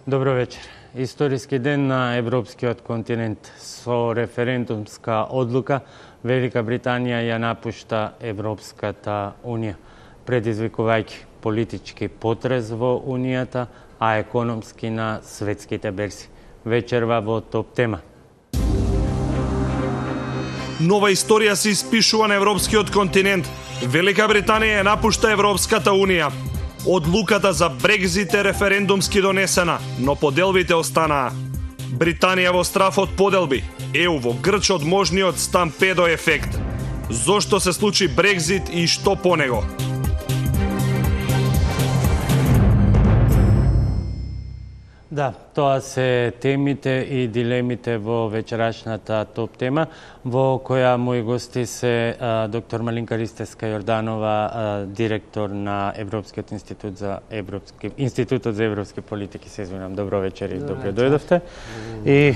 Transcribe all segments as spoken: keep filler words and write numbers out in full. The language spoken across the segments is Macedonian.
Добро вечер. Историски ден на европскиот континент. Со референдумска одлука Велика Британија ја напушта Европската Унија, предизвикувајќи политички потрес во Унијата, а економски на светските берзи. Вечерва во топ тема. Нова историја се испишува на европскиот континент. Велика Британија ја напушта Европската Унија. Одлуката за Брекзит е референдумски донесена, но поделбите останаа. Британија во страф од поделби, е у во грч од можниот стампедо ефект. Зошто се случи Брекзит и што по него? Да, тоа се темите и дилемите во вечерашната топ тема, во која мои гости се а, доктор Малинка Ристевска-Јорданова, а, директор на Европскиот институт за европски институтот за европски политики, се извинам. Добро вечер и добро дојдовте. И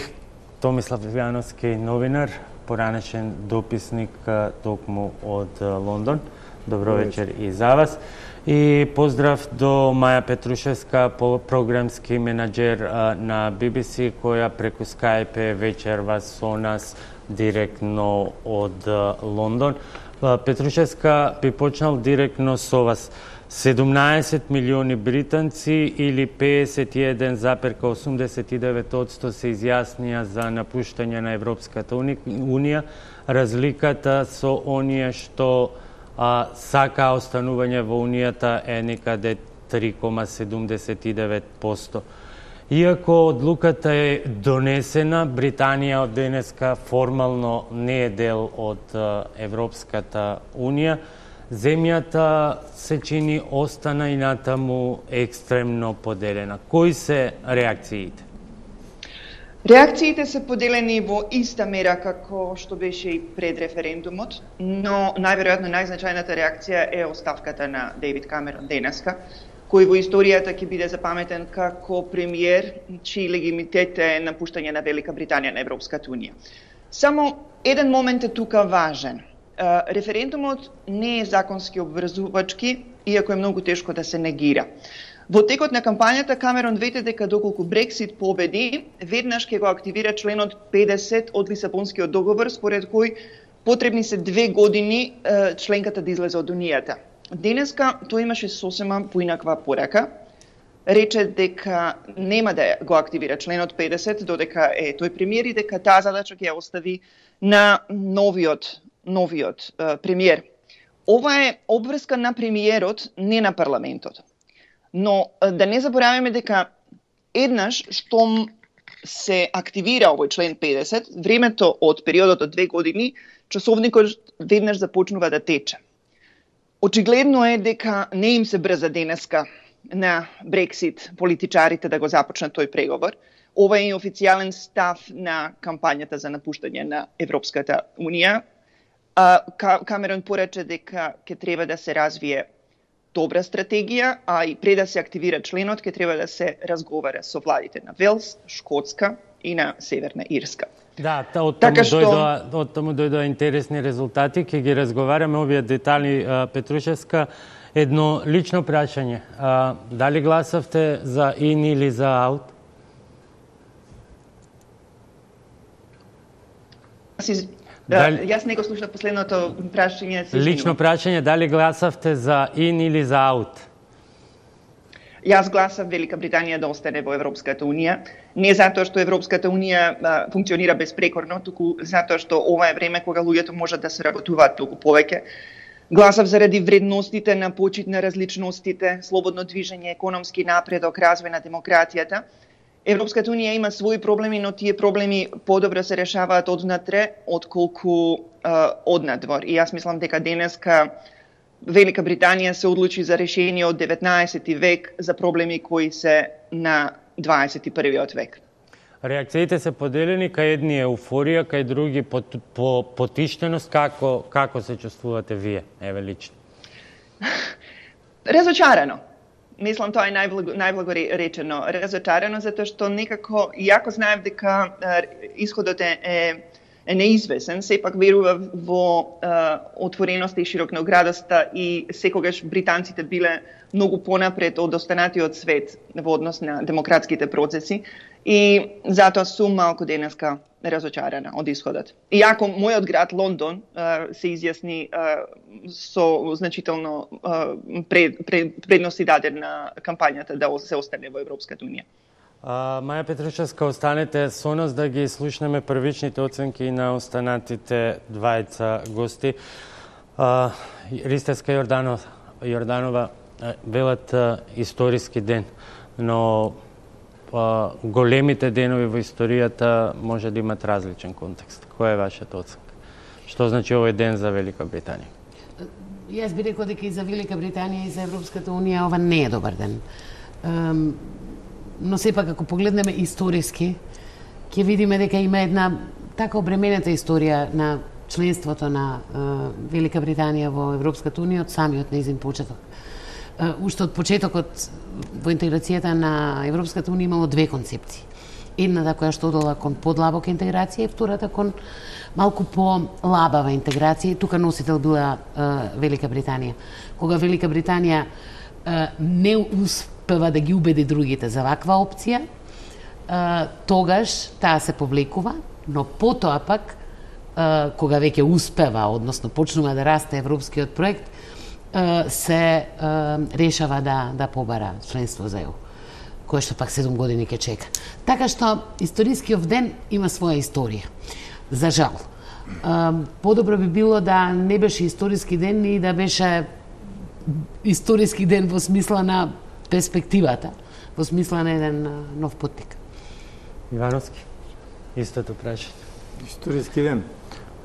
Томислав Јановски, новинар, поранешен дописник а, токму од а, Лондон. Добро вечер и за вас. И поздрав до Маја Петрушевска, програмски менаџер на Би Би Си, која преку Skype вечерва со нас директно од Лондон. Петрушевска, би почнал директно со вас. седумнаесет милиони британци или педесет и еден зарез осумдесет и девет одсто се изјаснија за напуштање на Европската Унија. Разликата со оние што а сака останување во Унијата е некаде три zarez седумдесет и девет одсто. Иако одлуката е донесена, Британија од денеска формално не е дел од Европската Унија. Земјата се чини остана и натаму екстремно поделена. Кои се реакциите? Реакциите се поделени во иста мера како што беше и пред референдумот, но најверојатно најзначајната реакција е оставката на Дејвид Камерон денеска, кој во историјата ќе биде запаметен како премиер чиј легитимитет е напуштање на Велика Британија на Европската Унија. Само еден момент е тука важен. Референдумот не е законски обврзувачки, иако е многу тешко да се негира. Во текот на кампањата Камерон вете дека доколку Брексит победи, веднаш ќе го активира членот педесет од Лисабонскиот договор, според кој потребни се две години е, членката да излезе од Унијата. Денеска тој имаше сосема поинаква порака. Рече дека нема да го активира членот педесет, додека е тој премиер и дека таа задача ќе ја остави на новиот, новиот е, премиер. Ова е обврска на премиерот, не на парламентот. Но да не забораваме дека еднаш штом се активира овој член педесет, времето од периодот од две години, часовникот веднаш започнува да тече. Очигледно е дека не им се брза денеска на Брексит политичарите да го започнат тој преговор. Ова е официјален став на кампањата за напуштање на Европската Унија. Камерон порача дека ќе треба да се развие добра стратегија, а и пред да се активира членот, ќе треба да се разговара со владите на Велс, Шкотска и на Северна Ирска. Да, од таму така што... дојдоа, од таму дојдоа интересни резултати, ќе ги разговараме овие детали. Петрушевска, едно лично прашање. А, дали гласавте за in или за out? Дали... Јас не го слушнав последното прашање. Лично прашање, дали гласавте за in или за out? Јас гласав Велика Британија да остане во Европската Унија, не затоа што Европската Унија а, функционира безпрекорно, туку затоа што ова е време кога луѓето можат да се работуваат толку повеќе. Гласав заради вредностите на почит на различностите, слободно движење, економски напредок, развој на демократијата. Европската Унија има своји проблеми, но тие проблеми подобро се решаваат однатре, отколку а, однадвор. И јас мислам дека денеска Велика Британија се одлучи за решение од деветнаесети век за проблеми кои се на дваесет и првиот век. Реакциите се поделени, кај едни еуфорија, кај други по, по потиштеност. Како, како се чувствувате вие, еве лично? Разочарано. Мислам, тоа е најблаго, најблаго речено. Разочарано, затоа што некако, иако знаев дека е, исходот е, е е неизвесен, сепак верува во а, отвореноста и широкооградоста и секогаш британците биле многу понапред од останатиот свет во однос на демократските процеси и затоа сум малку денеска разочарана од исходот. Иако мојот град Лондон а, се изјасни а, со значително а, пред, пред, предности даден на кампањата да се остане во Европската унија. А, Маја Петрушевска, останете со нас да ги слушнеме првичните оценки на останатите двајца гости. А, Ристеска Јорданова, Јорданова велат историски ден, но а, големите денови во историјата може да имат различен контекст. Која е вашата оценка? Што значи овој ден за Велика Британија? Јас би рекол дека и за Велика Британија и за Европската унија ова не е добар ден. Um, но сепак ако погледнеме историски, ќе видиме дека има една така обременета историја на членството на uh, Велика Британија во Европската унија од самиот нејзин почеток. Uh, уште од почетокот во интеграцијата на Европската унија имало две концепции. Едната која што одела кон подлабока интеграција и втората кон малку по-лабава интеграција, и тука носител била uh, Велика Британија. Кога Велика Британија uh, не успева да ги убеди другите за ваква опција, uh, тогаш таа се повлекува, но потоа пак, uh, кога веќе успева, односно почнува да расте европскиот проект, uh, се uh, решава да, да побара членство за ЕУ, кое што пак седум години ќе чека. Така што историскиот ден има своја историја. За жал. Подобро би било да не беше историски ден и да беше историски ден во смисла на перспективата, во смисла на еден нов патник. Ивановски, истото прашање. Историски ден.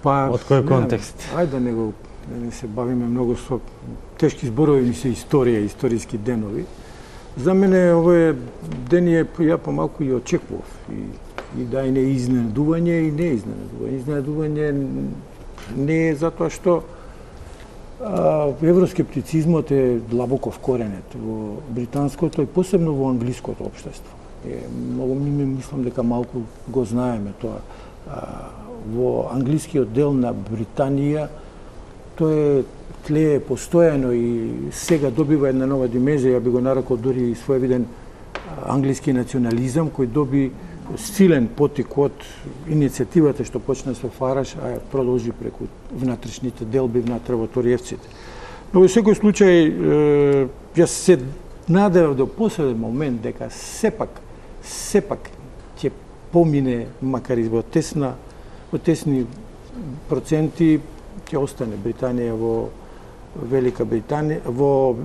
Па, од кој контекст? Не, ајде да не го не се бавиме многу со тешки зборови, ми се историја, историски денови. За мене овој ден е ја помалку и очекував. И, и да и не изненадување и не изненадување. Изненадување не е затоа што а, евроскептицизмот е длабоко вкоренет во британското и посебно во англиското општество. Е, многу ми мислам дека малку го знаеме тоа. А, во англискиот дел на Британија тоа е тлее постојано и сега добива една нова димензија, ја би го нарекол дури и своевиден англиски национализам, кој доби силен потик од иницијативата што почна со Фараш, а продолжи преку внатрешните делби внатре во Ториевците. Но во секој случај, јас се надевав до последен момент дека сепак, сепак ќе помине, макар и во тесна, во тесни проценти, ќе остане Британија во Велика Британија, во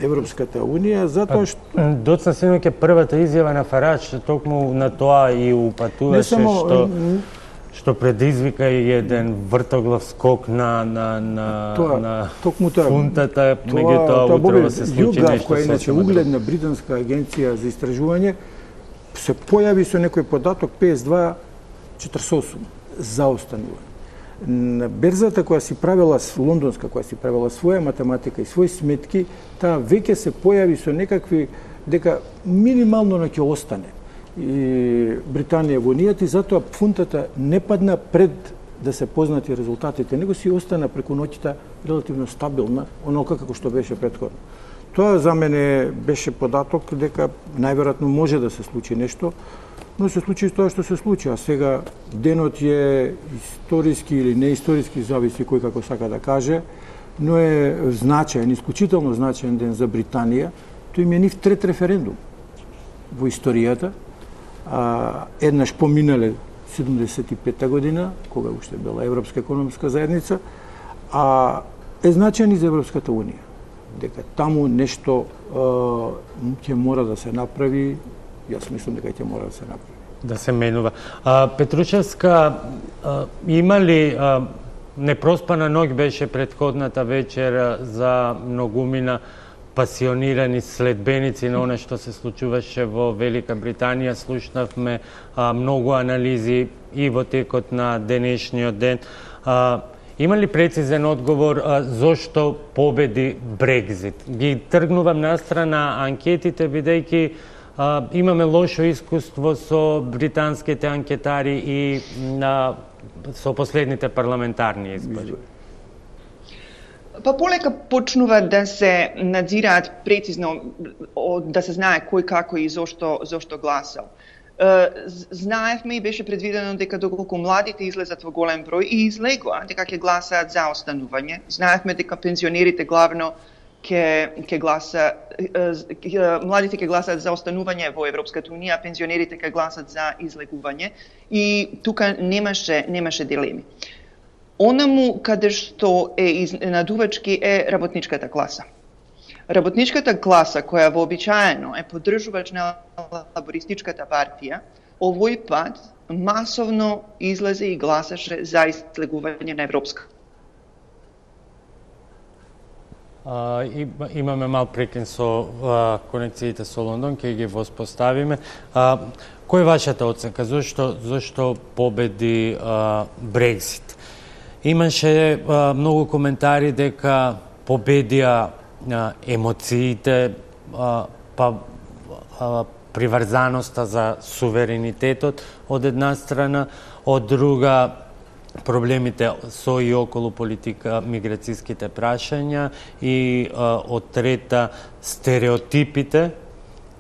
Европската унија, затоа што доцна синоќ е првата изјава на Фарач, токму на тоа и упатуваше само, што што предизвика и еден вртоглав скок на на на тоа, на токму тоа, фунтата, меѓутоа утрово се случи нешто. Која иначе угледна британска агенција за истражување се појави со некој податок петдесет и два четиридесет и осум заостанување. На берзата која си правила, лондонска која си правила своја математика и своји сметки, таа веќе се појави со некакви дека минимално ќе остане и Британија во унијата, и затоа фунтата не падна пред да се познати резултатите, него си остана преку ноќта релативно стабилна, онока како што беше претходно. Тоа за мене беше податок дека најверојатно може да се случи нешто, но се случи тоа што се случи, а сега денот е историски или неисториски, зависи кој како сака да каже, но е значаен, исклучително значаен ден за Британија. Тој им е нив трет референдум во историјата. А, еднаш поминале седумдесет и пета година, кога уште била Европска економска заедница, а е значаен и за Европската унија. Дека таму нешто ќе мора да се направи. Јас мислам дека ќе мора да се направи. Да се менува. А, Петрушевска, а, има ли а, непроспана ноќ беше претходната вечер за многумина пасионирани следбеници на она што се случуваше во Велика Британија. Слушнавме а, многу анализи и во текот на денешниот ден. А, има ли прецизен одговор а, зошто победи Брекзит? Ги тргнувам настрана анкетите, бидејќи Uh, имаме лошо искуство со британските анкетари и на со последните парламентарни избори? Па полека почнува да се надзираат прецизно, да се знае кој како и зошто, зошто гласал. Знаевме и беше предвидено дека доколку младите излезат во голем број и излегува, дека ќе гласаат за останување. Знаевме дека пензионерите главно ќе ќе гласа младите ќе гласаат за останување во Европската унија, а пензионерите ќе гласат за излегување и тука немаше немаше дилеми. Онаму каде што е изненадувачки е работничката класа. Работничката класа, која вообичаено е поддржувач на лабористичката партија, овој пат масовно излезе и гласаше за излегување на Европска. А, имаме мал прекин со а, конекциите со Лондон, ќе ги воспоставиме. А, кој е вашата оценка? Зошто, зошто победи а, Брекзит? Имаше а, многу коментари дека победија а, емоциите, а, па а, приврзаноста за суверенитетот од една страна, од друга проблемите со и околу политика, миграцијските прашања и а, од трета стереотипите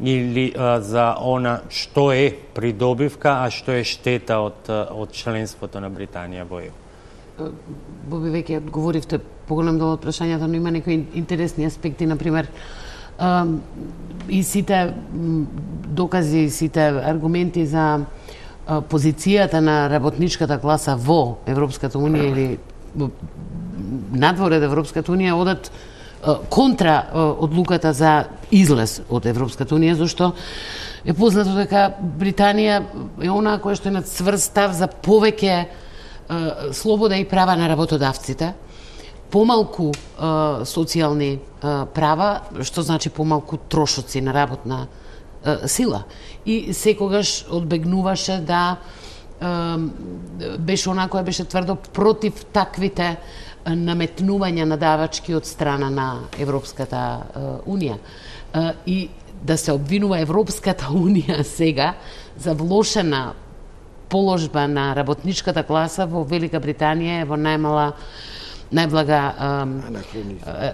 или а, за она што е придобивка, а што е штета од, од членството на Британија во Е У. Боби, веќе одговоривте поголем дел од прашањата, но има некои интересни аспекти, например, и сите докази, сите аргументи за позицијата на работничката класа во Европската унија или надвор од Европската унија одат контра одлуката за излез од Европската унија, зашто е познато дека Британија е онаа која што е на цврст став за повеќе слобода и права на работодавците, помалку е, социјални е, права, што значи помалку трошоци на работна е, сила. И секогаш одбегнуваше да е, беше онаа која беше тврдо против таквите наметнувања на давачки од страна на Европската е, унија. Е, и да се обвинува Европската унија сега за влошена положба на работничката класа во Велика Британија е во најмала најблага е,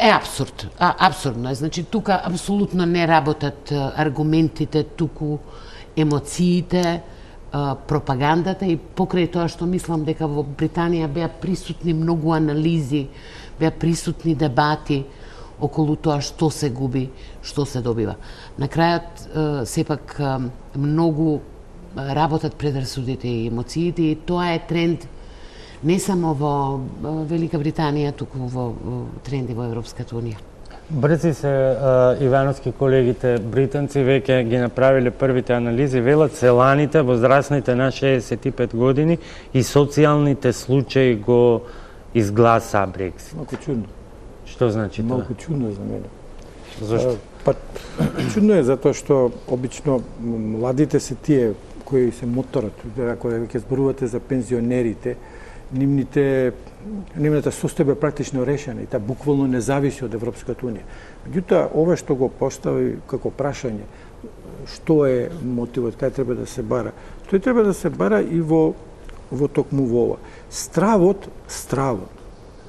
е абсурд. А, абсурдно е. Значи, тука апсолутно не работат аргументите, туку емоциите, пропагандата и покрај тоа што мислам дека во Британија беа присутни многу анализи, беа присутни дебати околу тоа што се губи, што се добива. На крајот, сепак, многу работат предрасудите и емоциите и тоа е тренд не само во Велика Британија, туку во тренди во Европската унија. Брзи се ивановски колегите британци веќе ги направиле првите анализи, велат селаните возрастните на шеесет и пет години и социјалните случаи го изгласа Брексит. Малку чудно. Што значи тоа? Малку чудно е за мене. Зошто? Па чудно е затоа што обично младите се тие кои се моторот, ако ќе зборувате за пензионерите, нивните нивната состојба е практично решена и таа буквално не зависи од Европската унија. Меѓутоа, ова што го постави како прашање, што е мотивот, кај треба да се бара, тој треба да се бара и во во токму во ова. Стравот, стравот.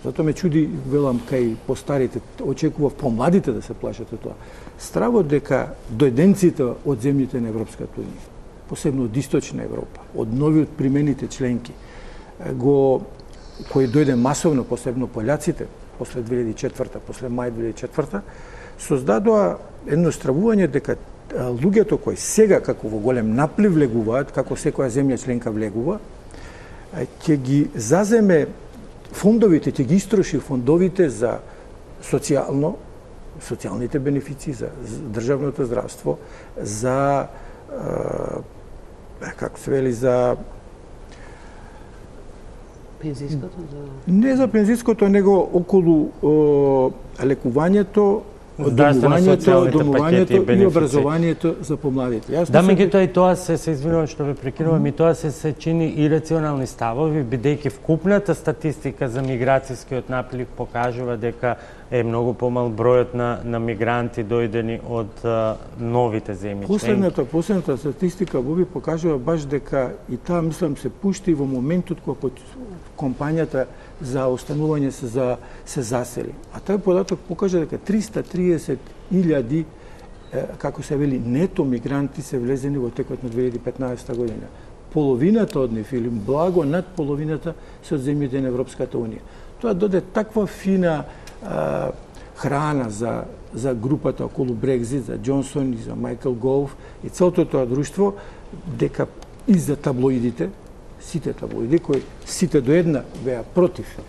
Затоа ме чуди, велам, кај постарите, очекував помладите да се плашат од тоа. Стравот дека дојденците од земјите на Европската унија, посебно од Источна Европа, од нови од примените членки, го кои дојде масовно, посебно пољаците, после две илјади и четврта, после мај две илјади и четврта, создадоа едно стравување дека луѓето кои сега како во голем наплив влегуваат, како секоја земја членка влегува, ќе ги заземе фондовите, ќе ги истроши фондовите за социјално, социјалните бенефиции, за државното здравство, за како се вели, за пензиското? Не за пензиското, него околу о, лекувањето од домувањето, домувањето и образованието за помладите. Да, меѓутоа и тоа се, се извинувам што ве прекинувам, и тоа се се чини ирационални ставови, бидејќи вкупната статистика за миграцијскиот наплив покажува дека е многу помал бројот на, на мигранти дојдени од а, новите земји. Последната, последната статистика Боби покажува баш дека и таа мислам се пушти во моментот кога компанијата за останување се за се засели. А тој податок покажа дека триста триесет илјади, како се вели, нето мигранти се влезени во текот на две илјади и петнаесета година. Половината од нив, или благо над половината, се од земјите на Европската унија. Тоа доде таква фина а, храна за, за групата околу Брекзит, за Џонсон и за Майкл Гов и целото тоа друштво, дека и за таблоидите, сите таблоиди, кои сите до една беа против е,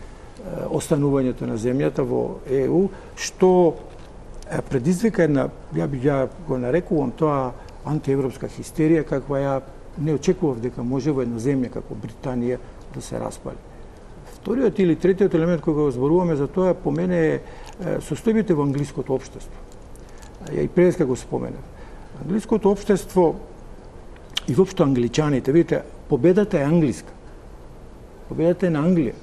останувањето на земјата во Е У, што е, предизвика една, ја би ја го нарекувам тоа антиевропска хистерија, каква ја не очекував дека може во една земја како Британија да се распали. Вториот или третиот елемент кој го зборуваме за тоа, по мене е состојбите во англиското општество. Ја и преска го споменав. Англиското општество и воопшто англичаните, видите, победата е англиска. Победата е на Англија.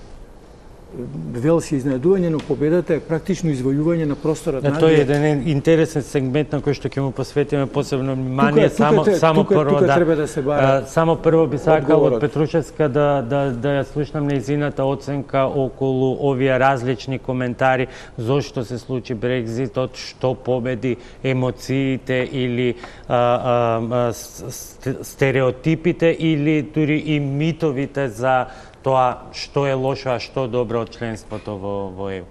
Велс е изненадување, но победата е практично извојување на просторот на Англија. Тоа е еден интересен сегмент на кој што ќе му посветиме посебно внимание. Тука, само тука, само тука, прво тука да, треба да се бара. Само прво би сакал од одговорот. Петрушевска да да да ја слушнам нејзината оценка околу овие различни коментари зошто се случи Брекзитот, што победи, емоциите или а, а, стереотипите или дури и митовите за тоа што е лошо, а што добро од членството во, во Е У.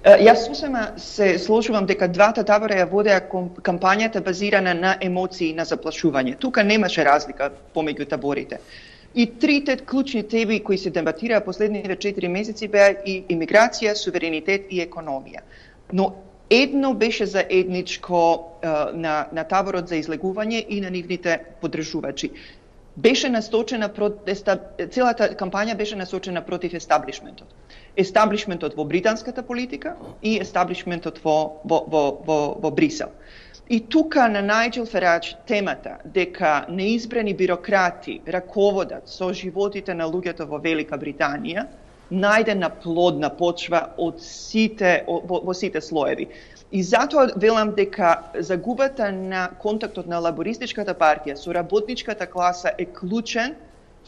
Јас сосема се сложувам дека двата табора ја водеа кампањата базирана на емоции и на заплашување. Тука немаше разлика помеѓу таборите. И трите клучни теми кои се дебатираа последните четири месеци беа и имиграција, суверенитет и економија. Но едно беше заедничко на, на таборот за излегување и на нивните поддржувачи. Беше насочена против, целата кампања беше насочена против естаблишментот. Естаблишментот во британската политика и естаблишментот во, во, во, во, во Брисел. И тука на Најџел Фарадж темата дека неизбрани бирократи раководат со животите на луѓето во Велика Британија, најде на плодна почва од сите, во, во сите слоеви. И затоа велам дека загубата на контактот на лабористичката партија со работничката класа е клучен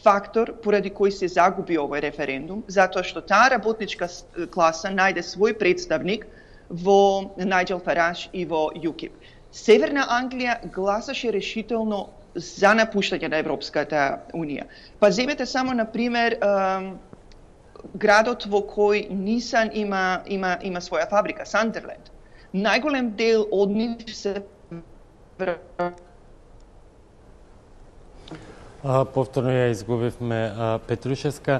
фактор поради кој се загуби овој референдум, затоа што таа работничка класа најде свој представник во Најџел Фарадж и во ЮКИП. Северна Англија гласаше решително за напуштање на Европската Унија. Па земете само, на пример, градот во кој Нисан има, има, има своја фабрика, Сандерленд. Најголем дел од нив се... А, повторно ја изгубивме а, Петрушевска.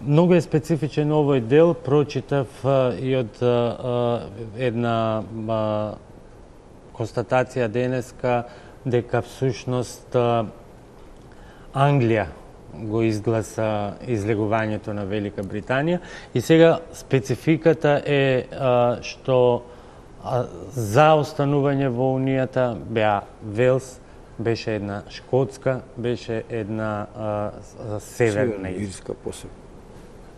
Многу е специфичен овој дел, прочитав а, и од а, една а, констатација денеска дека всушност а, Англија го изгласа излегувањето на Велика Британија и сега спецификата е а, што а, за останување во Унијата беа Велс, беше една Шкотска, беше една а, Северна Ирска посебно.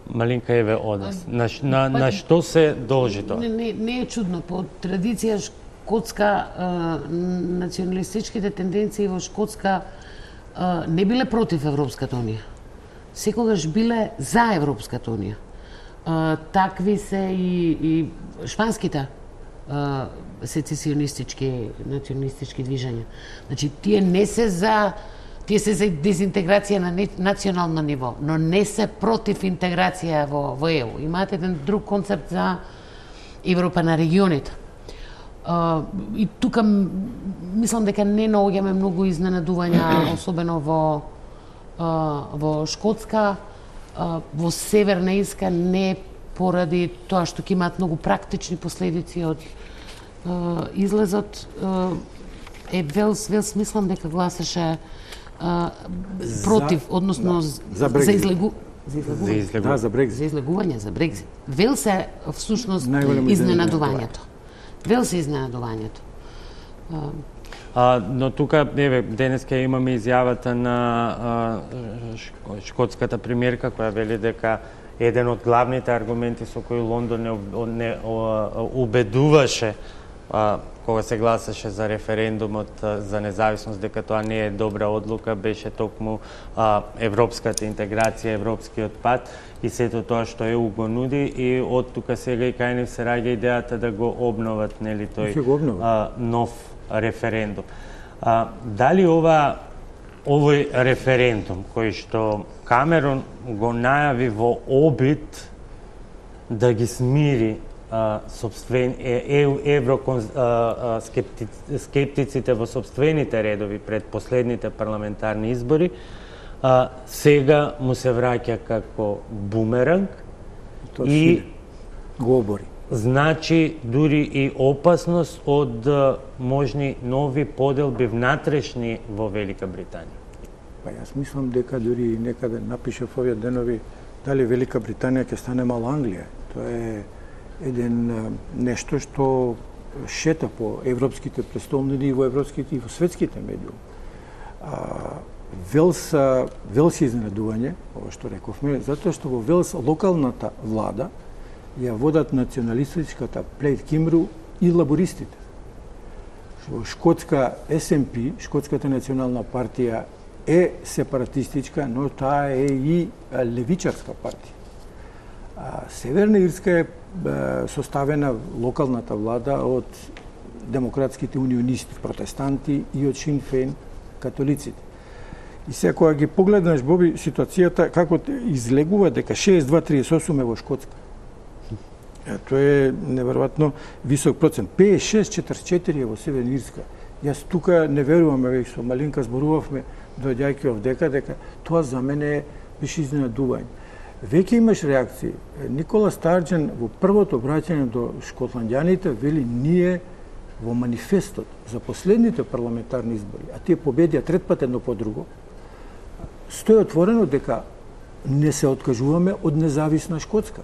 Малинка, еве од нас. На, на, на што се должи тоа? Не, не, не е чудно. По традиција шкотска, а, националистичките тенденции во Шкотска а, не биле против Европската Унија. Секогаш биле за Европската Унија. А, такви се и, и шпанските а, сецесионистички, националистички движења. Значи, тие не се за Тие се за дезинтеграција на национално ниво, но не се против интеграција во, во Е У. Имаат еден друг концепт за Европа на регионите. Uh, и тука мислам дека не наоѓаме многу изненадувања, особено во, uh, во Шкотска, uh, во Северна Ирска, не поради тоа што ќе имаат многу практични последици од uh, излезот. Uh, е Велс, Велс мислам дека гласаше Uh, против, за, односно да, за, за излегу за излегување. За Да, за Брекзит. За излегување, за Брекзит. Велс е всушност Најголемо изненадувањето. Велс е изненадувањето. А, но тука, еве, денеска имаме изјавата на а, шкотската премиерка, која вели дека еден од главните аргументи со кои Лондон не, не о, убедуваше а, кога се гласаше за референдумот а, за независност, дека тоа не е добра одлука, беше токму а, европската интеграција, европскиот пат и сето тоа што е го нуди, и од тука сега и кај нив се раѓа идејата да го обноват, нели, тој а, нов референдум. А, дали ова овој референдум кој што Камерон го најави во обид да ги смири а, собствен, е, евроскептиците во собствените редови пред последните парламентарни избори, а, сега му се враќа како бумеранг и го обори. Значи дури и опасност од можни нови поделби внатрешни во Велика Британија. Па јас мислам дека дури некаде напишав овие денови дали Велика Британија ќе стане мала Англија. Тоа е еден нешто што шета по европските престолнини и во европските и во светските медиуми. Велс, Велс е изненадување, ова што рековме, затоа што во Велс локалната влада ја водат националистичката Плейд Кимру и лабористите. Во Шкотска Ес Ен Пи, Шкотската национална партија, е сепаратистичка, но таа е и левичарска партија. А, Северна Ирска е составена локалната влада од демократските унионисти, протестанти и од Шин Фейн, католиците. И сега кога ги погледнеш, Боби, ситуацијата како излегува дека шеесет два тридесет и осум е во Шкотска. Тоа е неверојатно висок процент. петдесет и шест четиридесет и четири е во Северна Ирска. Јас тука не верувам, веќе со Малинка зборувавме доаѓајќи овдека, дека тоа за мене беше изненадување. Веќе имаш реакции. Никола Старџен во првото обраќање до шкотландјаните вели ние во манифестот за последните парламентарни избори, а тие победија трет пат едно по друго, стои отворено дека не се откажуваме од независна Шкотска.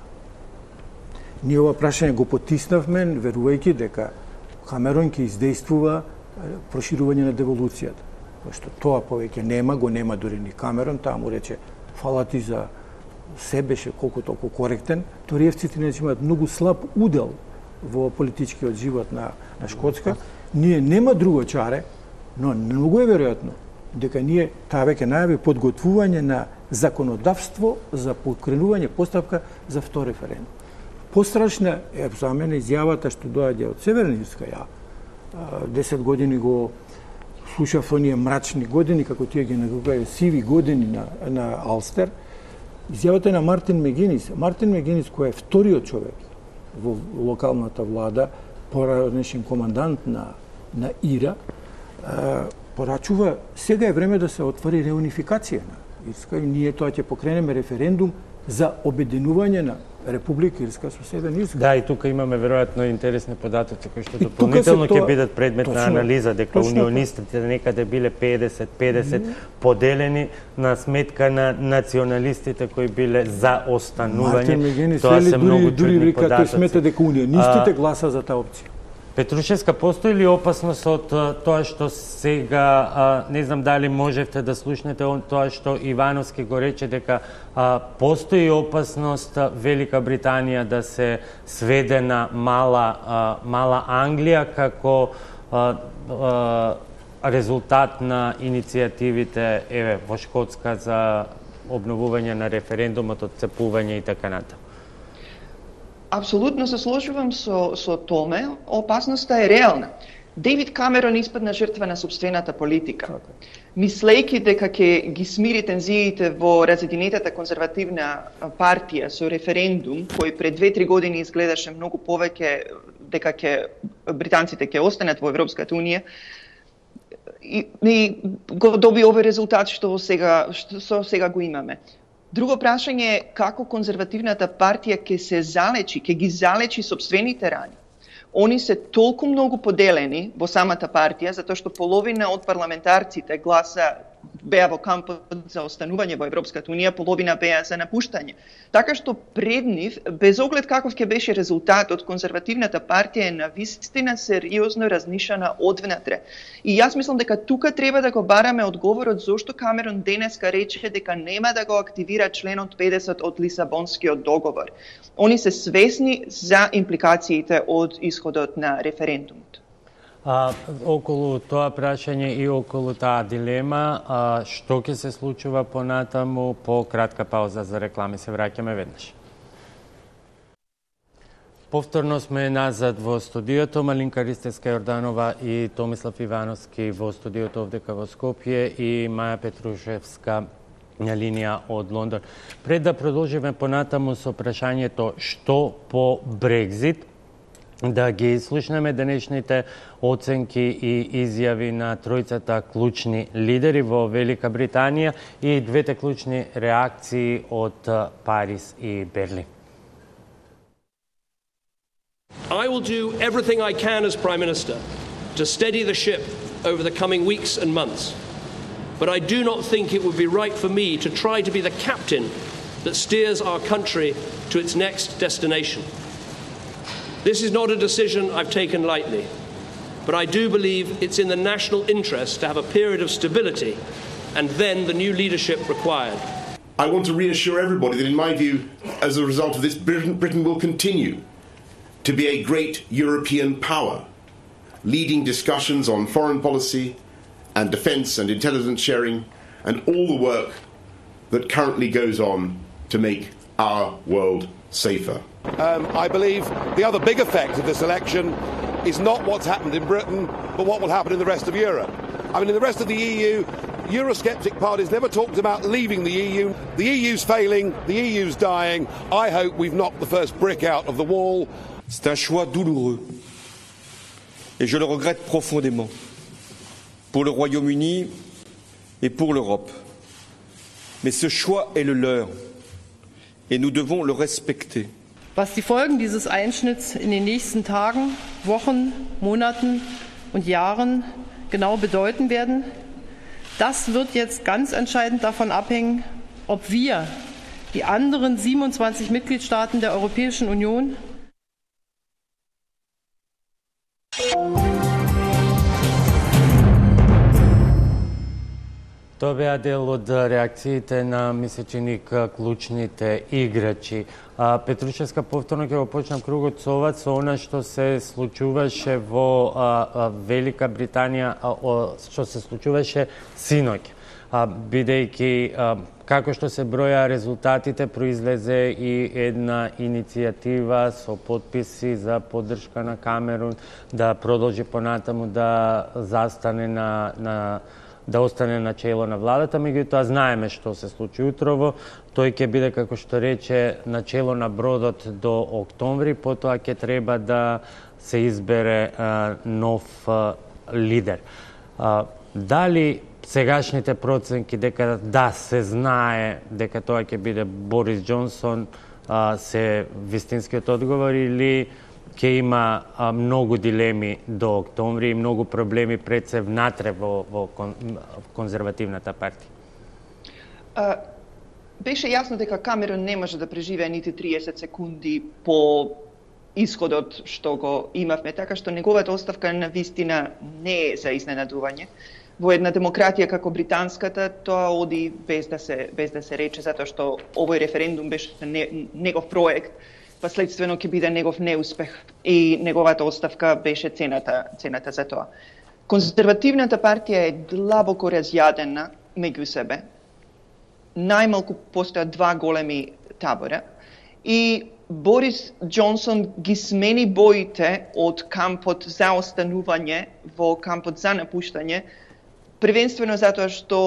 Ние ова прашање го потиснавме, верувајќи дека Камерон ќе издействува проширување на деволуцијата. Пошто тоа повеќе нема, го нема дури ни Камерон, таа му рече фала ти за се, беше колку толку коректен. Ториевците не имаат многу слаб удел во политичкиот живот на, на Шкотска. Ние нема друго чаре, но многу е веројатно дека ние таа веќе најави подготвување на законодавство за покренување постапка за втор референдум. Пострашна е за мене изјавата што доаѓа од Северна Ирска. Ја десет години го слушав оние мрачни години, како тие ги нарекуваат сиви години на, на Алстер. Изјавата на Мартин Мегинис. Мартин Мегинис, кој е вториот човек во локалната влада, поранешен командант на, на Ира, порачува сега е време да се отвори реунификација на Ирска и ние тоа ќе покренеме референдум за обединување на Република Ирска со Северна Ирска. Да, и тука имаме веројатно интересни податоци кои што дополнително ќе бидат предмет точно, на анализа, дека унионистите некаде биле педесет педесет mm -hmm. поделени на сметка на националистите кои биле за останување. Тоа се многу чудни податоци. Тој смета дека унионистите гласа за таа опција. Петрушевска, постои ли опасност од тоа што сега, не знам дали можевте да слушнете тоа што Ивановски го рече, дека постои опасност Велика Британија да се сведе на мала, мала Англија како резултат на иницијативите еве во Шкотска за обновување на референдумот, отцепување и така натаму? Апсолутно се сложувам со, со томе, опасноста е реална. Дейвид Камерон испадна жртва на собствената политика. Мислејќи дека ќе ги смири тензиите во разединетата конзервативна партија со референдум, кој пред две-три години изгледаше многу повеќе дека ќе британците ќе останат во Европската унија, и, и го доби овој резултат што сега, што сега го имаме. Друго прашање е како конзервативната партија ќе се залечи, ќе ги залечи собствените рани. Они се толку многу поделени во самата партија, затоа што половина од парламентарците гласа беа во кампот за останување во Европската унија, половина беа за напуштање. Така што пред нив, без оглед каков ќе беше резултатот, конзервативната партија е навистина сериозно разнишана одвнатре. И јас мислам дека тука треба да го бараме одговорот зошто Камерон денеска рече дека нема да го активира членот педесет од Лисабонскиот договор. Они се свесни за импликациите од исходот на референдумот. А, околу тоа прашање и околу таа дилема, а, што ќе се случува понатаму, по кратка пауза за реклами, се враќаме веднаш. Повторно сме назад во студиото, Малинка Ристевска-Јорданова и Томислав Ивановски во студиото овдека во Скопје и Маја Петрушевска на линија од Лондон. Пред да продолжиме понатаму со прашањето што по Брекзит, да ги слушнеме денешните оценки и изјави на тројцата клучни лидери во Велика Британија и двете клучни реакции од Париз и Берлин. I will do everything I can as Prime Minister to steady the ship over the coming weeks and months. But I do not think it would be right for me to try to be the captain that steers our country to its next destination. This is not a decision I've taken lightly, but I do believe it's in the national interest to have a period of stability and then the new leadership required. I want to reassure everybody that, in my view, as a result of this, Britain, Britain will continue to be a great European power, leading discussions on foreign policy and defence and intelligence sharing and all the work that currently goes on to make our world safer. Um, I believe the other big effect of this election is not what's happened in Britain, but what will happen in the rest of Europe. I mean, in the rest of the E U, Eurosceptic parties never talked about leaving the E U. The E U's failing, the E U's dying. I hope we've knocked the first brick out of the wall. C'est un choix douloureux et je le regrette profondément pour le Royaume-Uni et pour l'Europe. Mais ce choix est le leur et nous devons le respecter. Was die Folgen dieses Einschnitts in den nächsten Tagen, Wochen, Monaten und Jahren genau bedeuten werden, das wird jetzt ganz entscheidend davon abhängen, ob wir, die anderen siebenundzwanzig Mitgliedstaaten der Europäischen Union, Тоа беа дел од реакциите на месечиник клучните играчи. А, Петрушевска, повторно ќе го почнам кругот со ова, со она што се случуваше во а, а, Велика Британија, а, о, што се случуваше синоќ. А, бидејќи а, како што се броја резултатите, произлезе и една иницијатива со потписи за поддршка на Камерун да продолжи понатаму да застане на, на да остане на чело на владата, меѓутоа знаеме што се случи утрово. Тој ќе биде, како што рече, на чело на бродот до октомври, потоа ќе треба да се избере а, нов а, лидер. А, дали сегашните проценки дека да се знае дека тоа ќе биде Борис Џонсон а, се вистинскиот одговор или ќе има а, многу дилеми до октомври и многу проблеми пред се внатре во, во кон, конзервативната партија? А, беше јасно дека Камерон не може да преживее нити триесет секунди по исходот што го имавме, така што неговата оставка на вистина не е за изненадување. Во една демократија како британската тоа оди без да се без да се рече, затоа што овој референдум беше не, негов проект, последствено ќе биде негов неуспех и неговата оставка беше цената, цената за тоа. Конзервативната партија е длабоко разјадена меѓу себе. Најмалку постојат два големи табора и Борис Џонсон ги смени боите од кампот за останување во кампот за напуштање, првенствено затоа што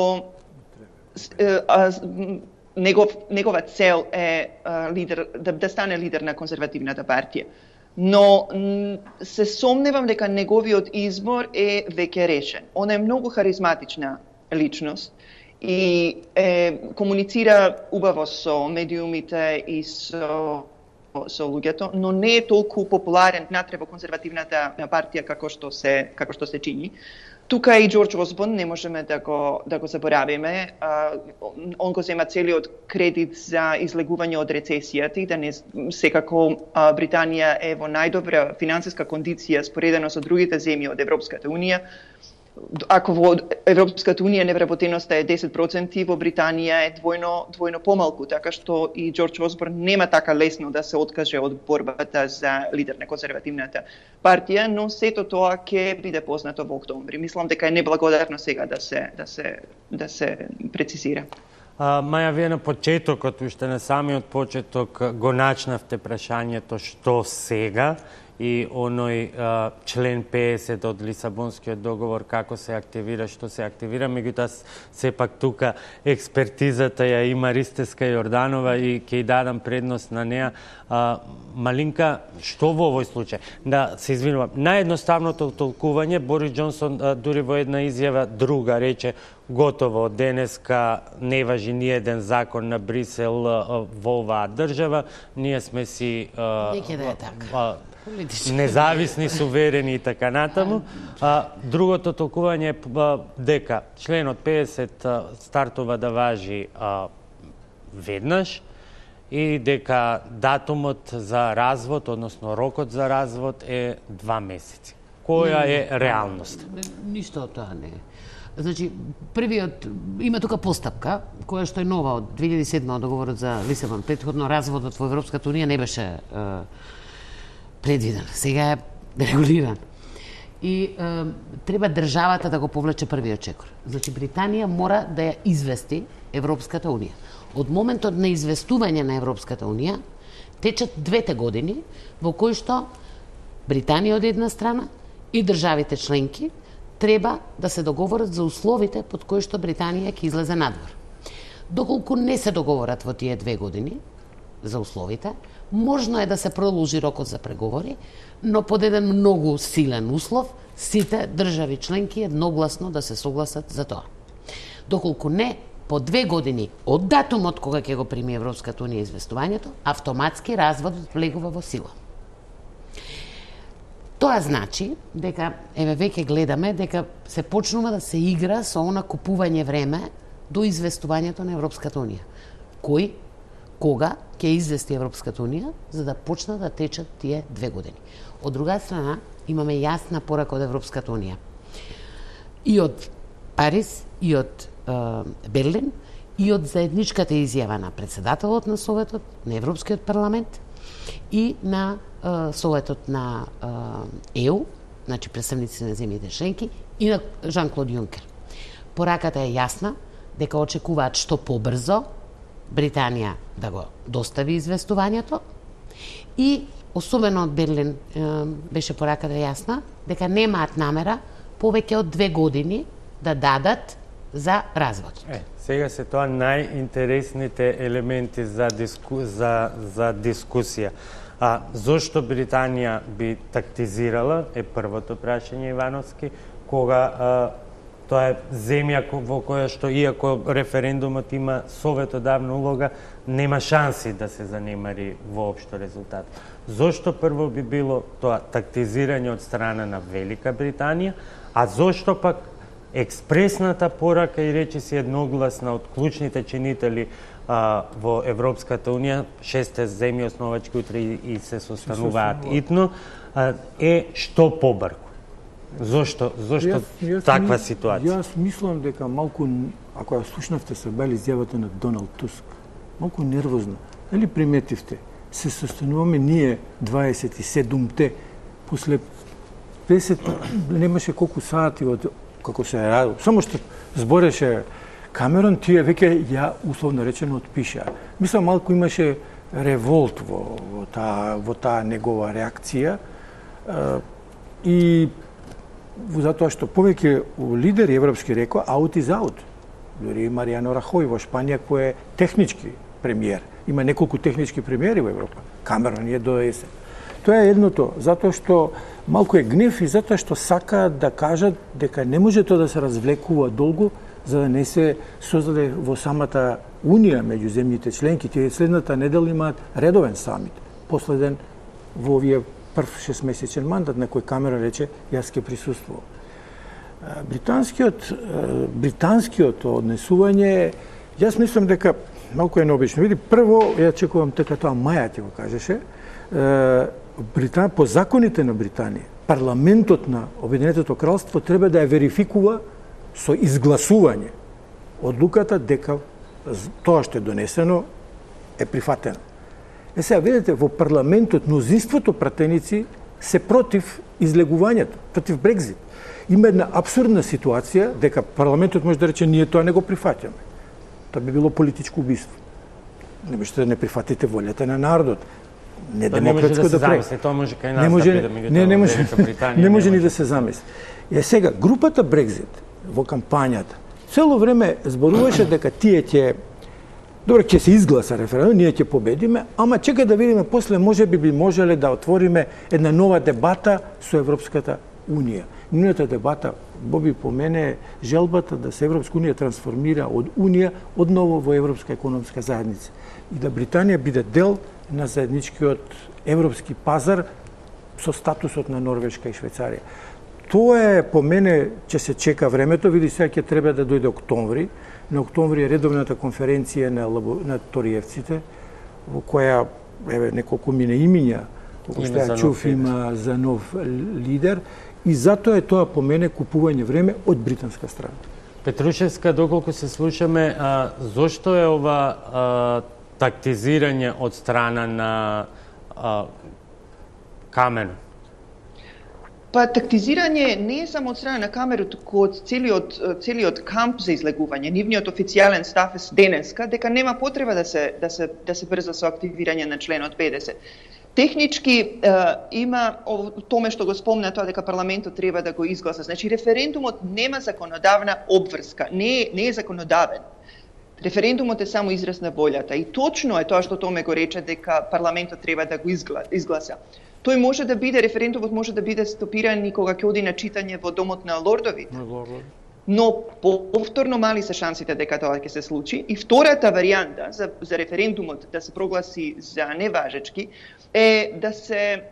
Негов, негова цел е а, лидер, да, да стане лидер на конзервативната партија. Но се сомневам дека неговиот избор е веќе решен. Он е многу харизматична личност и е, комуницира убаво со медиумите и со, со луѓето, но не е толку популарен внатре во конзервативната партија како што се како што се чини. Тука и Џорџ Осборн не можеме да го да го заборавиме. Он го зема целиот кредит за излегување од рецесијата и да не секако Британија е во најдобра финансиска кондиција споредено со другите земји од Европската унија. Ако во Европската унија невработеноста е десет проценти, во Британија е двојно двојно помалку, така што и Џорџ Осборн нема така лесно да се откаже од борбата за лидер на конзервативната партија, но сето тоа ќе биде познато во октомври. Мислам дека е неблагодарно сега да се да се да се прецизира. А, Маја, вие на почетокот, уште на самиот почеток, го начнавте прашањето што сега и оној а, член педесет од Лисабонскиот договор како се активира, што се активира, меѓутоа сепак тука експертизата ја има Ристеска Јорданова и ќе ја дадам предност на неа. А, Малинка, што во овој случај? Да, се извинувам, наједноставното толкување, Борис Џонсон а, дури во една изјава друга рече готово, денеска не важи ни еден закон на Брисел а, во оваа држава, ние сме си а, Неќе да е така. а, независни, суверени и така натаму. А, другото толкување е дека членот педесет а, стартува да важи а, веднаш и дека датумот за развод, односно рокот за развод е два месеци. Која е реалност? Ништо од тоа не е. Значи, првиот, има тука постапка, која што е нова од две илјади и седма од договорот за Лисабон. Претходно разводот во Европската унија не беше е, предвиден. Сега е регулиран. И е, треба државата да го повлече првиот чекор. Значи, Британија мора да ја извести Европската унија. Од моментот на известување на Европската унија течат двете години во кои што Британија од една страна и државите членки треба да се договорат за условите под кои што Британија ќе излезе надвор. Доколку не се договорат во тие две години за условите, можно е да се продолжи рокот за преговори, но под еден многу силен услов, сите држави членки едногласно да се согласат за тоа. Доколку не, по две години од датумот кога ќе го прими Европската унија известувањето, автоматски разводот влегува во сила. Тоа значи дека, еве веќе гледаме, дека се почнува да се игра со она купување време до известувањето на Европската унија. Кој, кога ќе извести Европската унија, за да почнат да течат тие две години. Од друга страна, имаме јасна порака од Европската унија. И од Париз, и од е, Берлин, и од заедничката изјава на председателот на Советот, на Европскиот парламент и на е, Советот на е у, значи представници на земјите членки, и на Жан-Клод Јункер. Пораката е јасна дека очекуваат што побрзо Британија да го достави известувањето и особено од Берлин е, беше пораката јасна дека немаат намера повеќе од две години да дадат за развод. Е, сега се тоа најинтересните елементи за, диску, за, за дискусија. А зошто Британија би тактизирала е првото прашање Ивановски, кога а, тоа е земја во која што, иако референдумот има советодавна улога, нема шанси да се занемари воопшто резултат. Зошто прво би било тоа тактизирање од страна на Велика Британија, а зошто пак експресната порака и речиси едногласна од клучните чинители а, во Европската унија, шесте земји основачки утре и, и се состануваат итно, а, е што побрку. Зошто, зошто јас, јас, таква ситуација? Јас мислам дека малку, ако ја слушнавте се бели изјавата на Доналд Туск, малку нервозна. Дали приметивте? Се состануваме ние дваесет и седумте, после песет немаше колку сати од како се радо. Само што збореше Камерон, тие веќе ја условно речено отпишаа. Мислам малку имаше револт во, во таа во таа негова реакција и затоа што повеќе лидери европски рекоа аут из аут. Дори Маријано Рахој во Шпанија кој е технички премиер. Има неколку технички премиери во Европа. Камерон е до есен. Тоа е едното, затоа што малку е гнев и затоа што сакаат да кажат дека не може тоа да се развлекува долго, за да не се создаде во самата Унија меѓу земјите членки. Тие следната недела имаат редовен самит, последен во овие прв шестмесечен мандат на кој Камерон рече јас ќе присуствувам. Британскиот британскиот однесување, јас мислам дека малку е необично. Види, прво ја чекувам дека тоа Маја ти го кажеше, Британ, по законите на Британија, парламентот на Обединетото кралство треба да ја верификува со изгласување одлуката дека тоа што е донесено е прифатено. Е сега, видите, во парламентот мнозинството пратеници се против излегувањето, против Брекзит. Има една абсурдна ситуација дека парламентот може да рече ние тоа не го прифаќаме. Тоа би било политичко убиство. Не можете да не прифатите волјата на народот. Не демократско да прави. Тоа може кај нас да биде, меѓутоа не, не може, Велика Британија не може ни да се замисли. Е сега, групата Брекзит во кампањата цело време зборуваше дека тие ќе добро ќе се изгласа референдум, ние ќе победиме, ама чека да видиме после може би би можеле да отвориме една нова дебата со Европската унија. Нивната дебата, Боби, по мене е желбата да се Европска унија трансформира од унија одново во Европска економска заедница и да Британија биде дел на заедничкиот европски пазар со статусот на Норвешка и Швајцарија. Тоа е, по мене, ќе се чека времето, види сега ќе треба да дојде октомври. На октомври е редовната конференција на, на ториевците, во која еве неколку мине имиња, како што ја чув, има за нов лидер, и затоа е тоа по мене купување време од британска страна. Петрушевска, доколку се слушаме, а, зошто е ова а, тактизирање од страна на а, Камерон? Па тактизирање не е само од страна на Камерон, туку од целиот целиот камп за излегување. Нивниот официјален став е денеска дека нема потреба да се да се да се брза со активирање на членот педесет. Технички е, има томе што го спомна тоа дека парламентот треба да го изгласа. Значи референдумот нема законодавна обврска, не е, не е законодавен. Референдумот е само израз на волјата и точно е тоа што Томе го рече дека парламентот треба да го изгласа. Тој може да биде, референдумот може да биде стопиран и кога ќе оди на читање во домот на лордовите. Но повторно мали се шансите дека тоа ќе се случи. И втората варијанта за, за референдумот да се прогласи за неважечки е да се,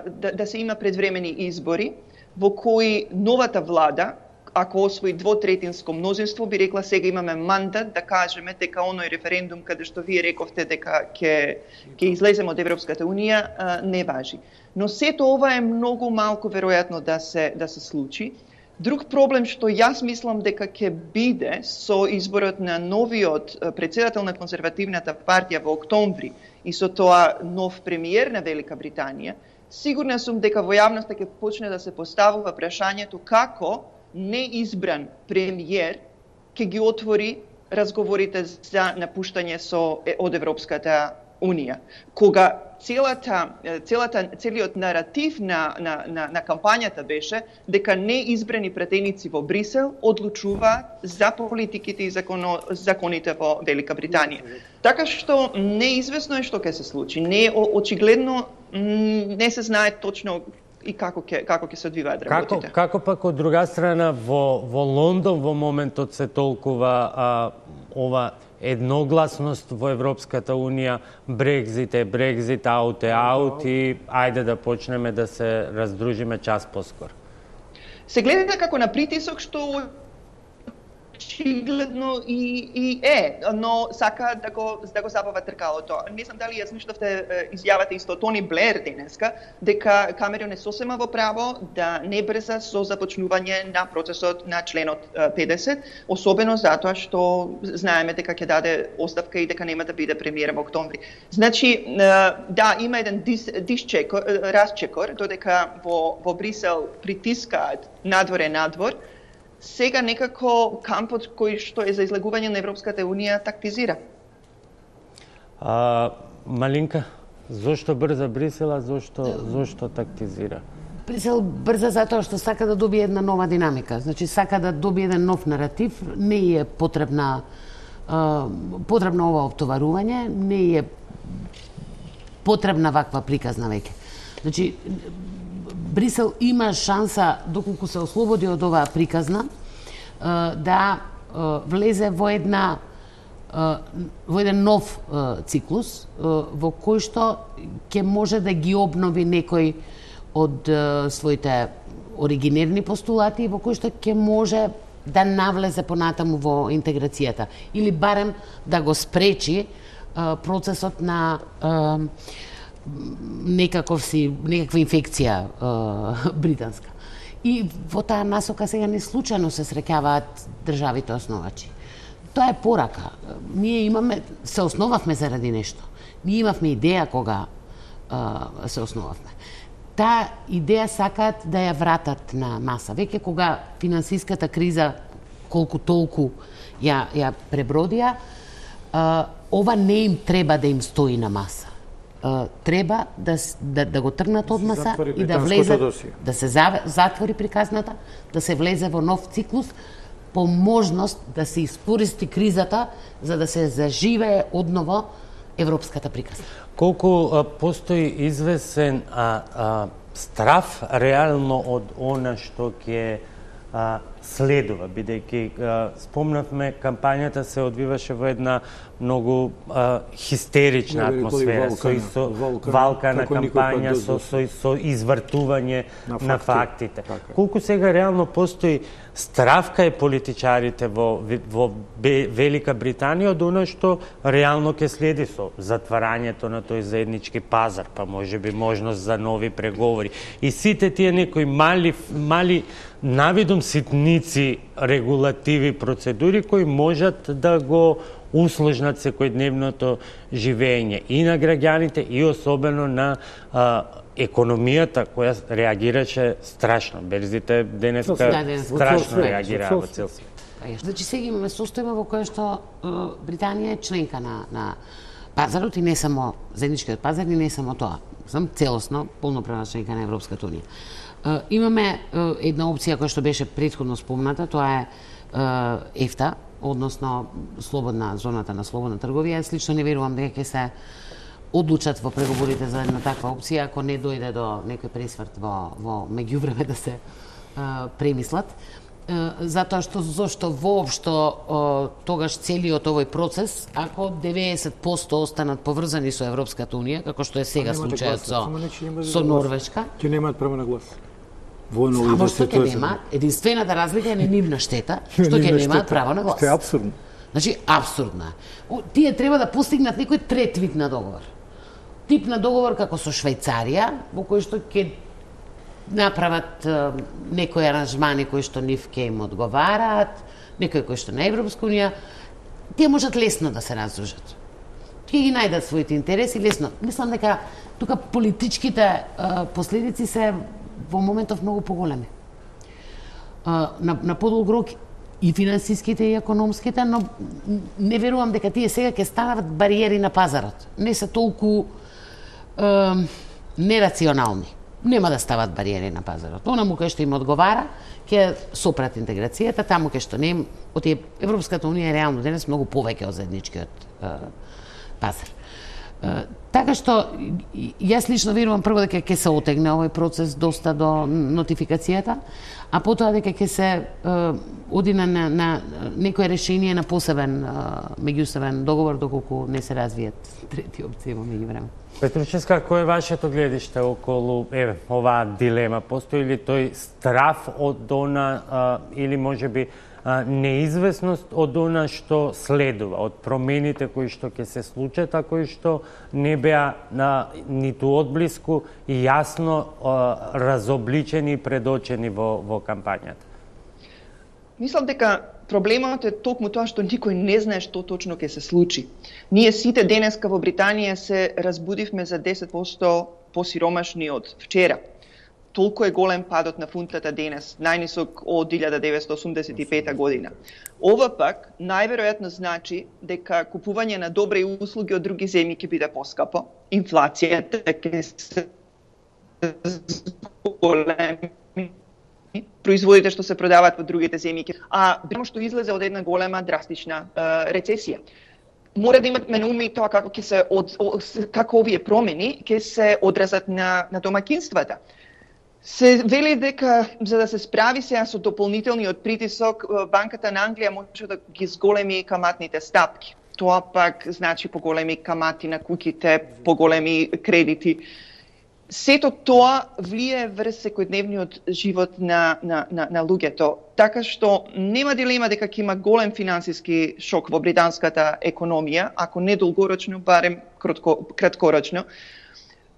да, да се има предвремени избори во кои новата влада, ако освои двотретинско мнозинство, би рекла сега имаме мандат да кажеме дека оној референдум каде што вие рековте дека ќе ќе излеземе од Европската унија не важи. Но сето ова е многу малку веројатно да се да се случи. Друг проблем што јас мислам дека ќе биде со изборот на новиот претседател на конзервативната партија во октомври и со тоа нов премиер на Велика Британија, сигурна сум дека во јавноста ќе почне да се поставува прашањето како неизбран премиер ќе ги отвори разговорите за напуштање со од Европската унија. Кога целата целата целиот наратив на на на, на кампањата беше дека неизбрани пратеници во Брисел одлучуваат за политиките и законо, законите во Велика Британија. Така што неизвестно е што ќе се случи. Не очигледно не се знае точно и како ќе како ќе се одвиваат работите. Како како пак од друга страна во во Лондон во моментот се толкува а, ова едногласност во Европската унија, Брекзит е Брекзит, аут е аут и ајде да почнеме да се раздружиме час поскоро. Се гледа како на притисок што очигледно и, и е, но сака да го, да го забава тркалото. Не знам дали ја слушнавте изјавата исто Тони Блер денеска, дека Камерон е сосема во право да не брза со започнување на процесот на членот педесет, особено затоа што знаеме дека ќе даде оставка и дека нема да биде премиер во октомври. Значи, да, има еден дис, дисчекор, разчекор, додека во, во Брисел притискаат надвор е надвор, сега некако кампот кој што е за излегување на Европската унија тактизира. А, Малинка, зошто брза Брисела, зошто зошто тактизира? Брисел брза затоа што сака да добие една нова динамика. Значи сака да добие еден нов наратив, не е потребна а, потребно ова оптоварување, не е потребна ваква приказна веќе. Значи Брисел има шанса, доколку се ослободи од оваа приказна, да влезе во една во еден нов циклус во кој што ќе може да ги обнови некои од е, своите оригинерни постулати во кои што ќе може да навлезе понатаму во интеграцијата или барем да го спречи е, процесот на е, некаков си некаква инфекција е, британска. И во таа насока сега не случајно се среќаваат државите основачи. Тоа е порака. Ние имаме, се основавме заради нешто. Ние имавме идеја кога е, се основавме. Таа идеја сакаат да ја вратат на маса. Веќе кога финансиската криза колку толку ја, ја пребродија, е, ова не им треба да им стои на маса. Uh, треба да, да, да го тргнат од маса и да влезе, да се затвори приказната, да се влезе во нов циклус, по можност да се искористи кризата за да се заживее одново европската приказна. Колку а, постои извесен а, а, страф реално од она што ќе а, следува, бидејќи спомнавме кампањата се одвиваше во една многу а, хистерична атмосфера, со, со валка на кампања, со, со, со извртување на, на фактите. Така. Колку сега реално постои страф кај политичарите во, во Велика Британија од она што реално ќе следи со затварањето на тој заеднички пазар, па може би можност за нови преговори. И сите тие некои мали, мали навидум ситници регулативи, процедури кои можат да го услужнат секојдневното живење и на граѓаните и особено на а, економијата која реагираше страшно. Берзите денеска страшно реагираа во цел свет. Значи сега имаме состојба во која што Британија е членка на, на пазарот и не само заедничкиот пазар и не само тоа. Сам целосно полноправна членка на Европската унија. Имаме една опција која што беше претходно спомната, тоа е ЕФТА, односно слободна зоната на слободна трговија. Слично не верувам дека ќе се одлучат во преговорите за една таква опција ако не дојде до некој пресврт во во меѓувреме да се а, премислат. А, затоа што зошто воопшто тогаш целиот овој процес, ако деветдесет проценти останат поврзани со Европската унија, како што е сега случајот со со Норвешка, ќе немаат право на глас. Само што ќе нема, единствената разлика е на нивна штета, што ќе немаат право на глас. Тоа е апсурдно. Значи, апсурдно е. Тие треба да постигнат некој трет вид на договор. Тип на договор како со Швајцарија, во кој што ќе направат е, некои аранжмани кои што нив ќе им одговараат, некои кои што на Европска унија, тие можат лесно да се раздружат. Ќе ги најдат своите интереси лесно. Мислам дека тука политичките е, последици се во моментов многу поголеми. На, на подолг рок и финансиските и економските, но не верувам дека тие сега ќе станат бариери на пазарот. Не се толку е, нерационални. Нема да стават бариери на пазарот. Онаму кај што им одговара, ќе сопрат интеграцијата, таму кај што не им, оти Европската унија е реално денес многу повеќе од заедничкиот е, пазар. Uh, така што јас лично верувам прво дека ќе се отегне овој процес доста до нотификацијата, а потоа дека ќе се uh, оди на, на, на некој решение на посебен uh, меѓусебен договор доколку не се развијат трети опции во меѓувреме. Петручевска, кој е вашето гледиште околу еве оваа дилема? Постои ли тој страф од она uh, или можеби неизвестност од она што следува, од промените кои што ќе се случат, а кои што не беа на, ниту одблиску и јасно а, разобличени и предочени во, во кампањата? Мислам дека проблемот е токму тоа што никој не знае што точно ќе се случи. Ние сите денеска во Британија се разбудивме за десет проценти посиромашни од вчера. Толку е голем падот на фунтата денес, најнисок од илјада деветстотини осумдесет и пета година. Ова пак најверојатно значи дека купување на добри услуги од други земји ќе биде поскапо, инфлацијата ќе се големи, производите што се продаваат во другите земји, а премо што излезе од една голема драстична е, рецесија. Мора да имаме на уми тоа како ќе се од, како овие промени ќе се одразат на на домаќинствата. Се вели дека за да се справи сега со дополнителниот притисок, Банката на Англија може да ги зголеми каматните стапки. Тоа пак значи поголеми камати на куќите, поголеми кредити. сето тоа влие врз секојдневниот живот на, на, на, на луѓето. Така што нема дилема дека ќе има голем финансиски шок во британската економија, ако не долгорочно, барем кратко, краткорочно.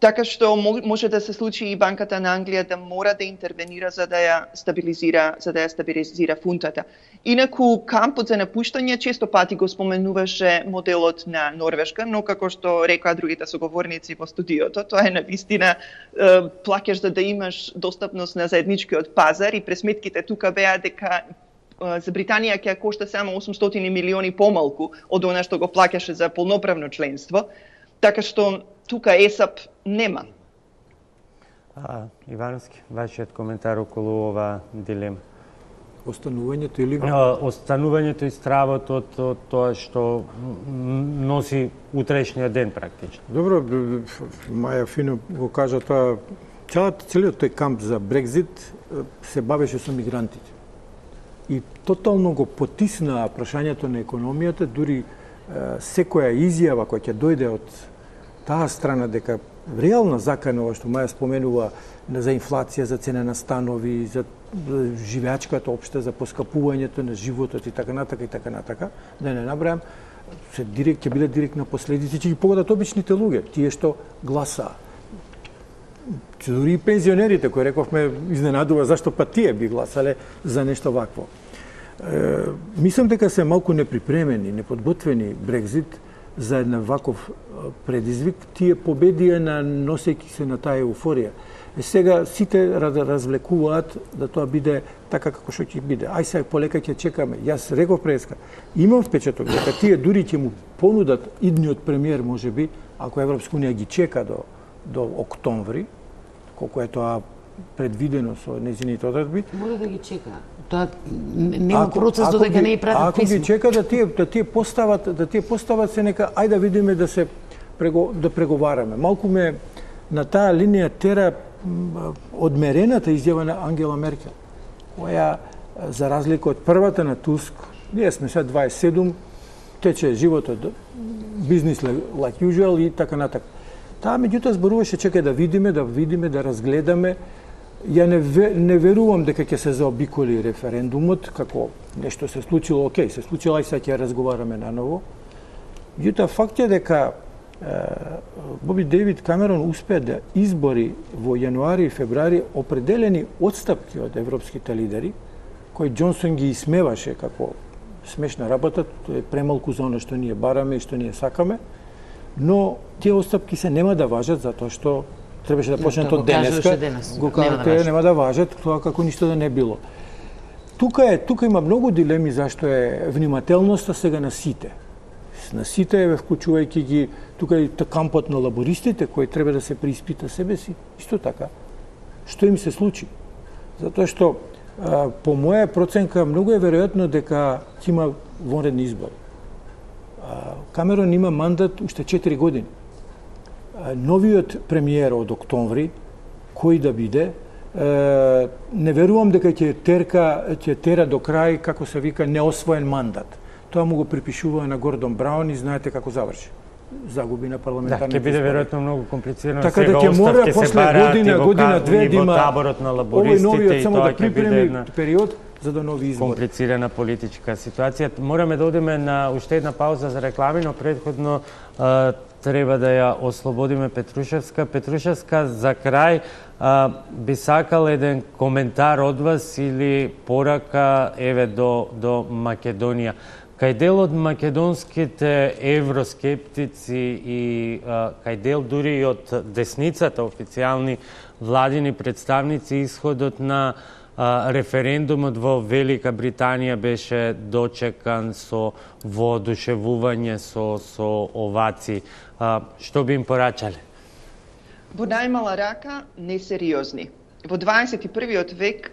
Така што може да се случи и Банката на Англија да мора да интервенира за да ја стабилизира, за да ја стабилизира фунтата. Инаку кампот за напуштање често пати го споменуваше моделот на Норвешка, но како што рекоа другите соговорници во студиото, тоа е навистина плаќаш за да имаш достапност на заедничкиот пазар и пресметките тука беа дека за Британија ќе кошта само осумстотини милиони помалку од она што го плаќаше за полноправно членство. Така што тука ЕСАП нема. А, Ивановски, вашиот коментар околу ова дилема? Останувањето или... Останувањето и стравот од, од тоа што носи утрешниот ден практично. Добро, Маја фино го кажа тоа. Целиот тој камп за Брекзит се бавеше со мигрантите. И тотално го потисна прашањето на економијата, дури секоја изјава која ќе дојде од таа страна дека реална закана, ова што Маја споменува, за инфлација, за цена на станови, за живеачката општа, за поскапувањето на животот и така натака и така натака, да не набрајам, се директ ќе биде директна последици, ќе ги погодат обичните луѓе, тие што гласаа. Дури и пензионерите, кои рековме, изненадува зашто па тие би гласале за нешто вакво. Е, мислам дека се малку неприпремени, неподготвени Брекзит за една ваков предизвик, тие победија на носејќи се на таа еуфорија. Е, сега сите развлекуваат да тоа биде така како што ќе биде. Ај сега полека ќе чекаме. Јас реков преска, имам впечаток дека тие дури ќе му понудат идниот премиер можеби, ако Европска унија ги чека до до октомври, колку е тоа предвидено со нејзините одредби. Мора да ги чека. Тоа нема процес додека не и пратат писмо. Ако ги чека да тие да тие постават да тие постават се нека ајде да видиме да се прего, да преговараме. Малку ме на таа линија тера одмерената изјава на Ангела Меркел, која за разлика од првата на Туск, ние сме сега дваесет и седум, тече животот бизнис like usual и така натака. Таа меѓутоа зборуваше чекај да видиме, да видиме, да разгледаме. Ја не, не верувам дека ќе се заобиколи референдумот, како нешто се случило, окей, се случило, и сега ќе разговараме наново. Меѓутоа факт е дека е, Боби Дејвид Камерон успеа да избори во јануари и февруари определени отстапки од европските лидери, кои Џонсон ги исмеваше како смешна работа, тоа е премалку за оно што ние бараме и што ние сакаме, но тие отстапки се нема да важат затоа што требаше да почнат од денеска. Го кажете, нема да важат, тоа како ништо да не било. Тука е, тука има многу дилеми зашто е внимателноста сега на сите. На сите е вклучувајќи ги тука и кампот на лабористите кој треба да се преиспита себе си. Исто така. Што им се случи? Затоа што а, по моја проценка многу е веројатно дека ќе има вонредни избори. Камерон има мандат уште четири години. Новиот премиер од октомври, кој да биде, не верувам дека ќе терка, ќе тера до крај, како се вика, неосвоен мандат. Тоа му го припишува на Гордон Браун и знаете како заврши. Загуби на парламентарните избори. Да, ќе биде веројатно многу комплицирано. Така да ќе мора после година, година, две да има таборот на лабористите и тоа ќе биде една период за да нови избори. Комплицирана политичка ситуација. Мораме да одиме на уште една пауза за реклами, но предходно а, треба да ја ослободиме Петрушевска. Петрушевска, за крај, а, би сакал еден коментар од вас или порака еве до, до Македонија. Кај дел од македонските евроскептици и а, кај дел дури и од десницата, официјални владини представници, исходот на а, референдумот во Велика Британија беше дочекан со воодушевување, со, со овации. А, што би им порачале? Во најмала рака, несериозни. Во дваесет и првиот век,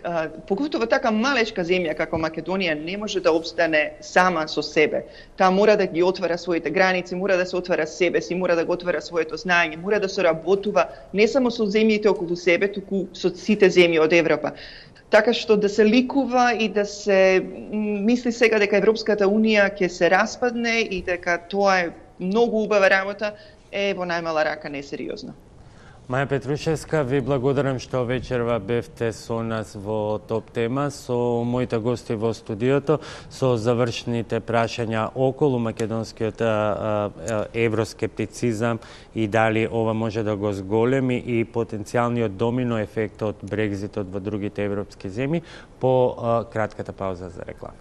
поготово така малечка земја како Македонија не може да обстане сама со себе. Таа мора да ги отвара своите граници, мора да се отвара себе си, мора да го отвара своето знаење, мора да се работува не само со земјите околу себе, туку со сите земји од Европа. Така што да се ликува и да се мисли сега дека Европската Унија ќе се распадне и дека тоа е многу убава работа, е во најмала рака несериозно. Маја Петрушевска, ви благодарам што вечерва бевте со нас во топ тема, со моите гости во студиото, со завршните прашања околу македонскиот евроскептицизам и дали ова може да го зголеми и потенцијалниот домино ефект од Брекзитот во другите европски земји по кратката пауза за реклама.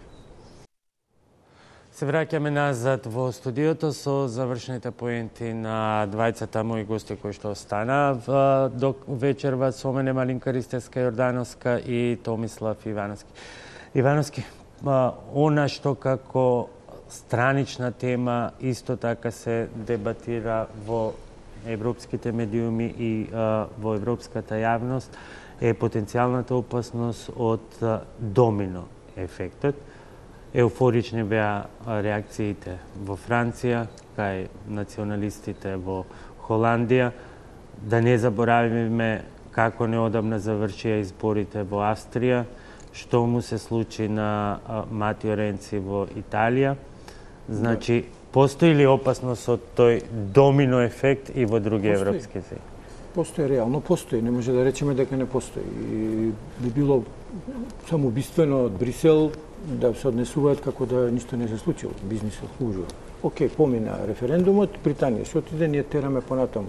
Се враќаме назад во студиото со завршните поенти на двајцата мои гости кои што остана до вечерва со мене Малинка Ристевска-Јордановска и Томислав Ивановски. Ивановски, она што како странична тема исто така се дебатира во европските медиуми и во европската јавност е потенцијалната опасност од домино ефектот. Еуфорични беа реакциите во Франција, кај националистите во Холандија. Да не заборавиме како неодамна завршија изборите во Австрија, што му се случи на Матио Ренци во Италија. Значи, постои ли опасност од тој домино ефект и во други постои. Европски земји? Постои, реално постои, не може да речеме дека не постои. И би било самоубиствено од Брисел да се однесуваат како да ништо не се случило, бизнисот служува. Океј, помина референдумот, Британија се отиде, ние тераме понатаму.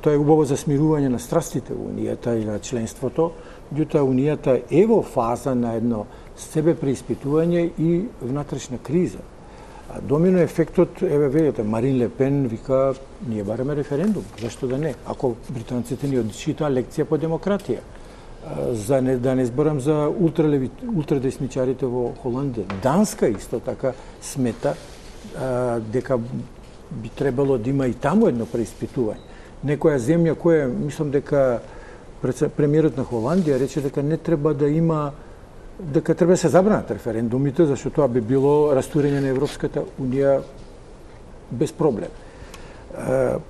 Тоа е убаво за смирување на страстите во Унијата и на членството, меѓутоа Унијата е во фаза на едно себе преиспитување и внатрешна криза. А домино ефектот, еве видите, Марин Ле Пен вика, ние бараме референдум, зашто да не? Ако британците ни одчитаа лекција по демократија. За не, да не зборам за ултралеви, ултрадесничарите во Холандија. Данска исто така смета а, дека би требало да има и таму едно преиспитување. Некоја земја која, мислам дека премиерот на Холандија рече дека не треба да има, дека треба да се забранат референдумите, зашто тоа би било растурење на Европската Унија без проблем. А,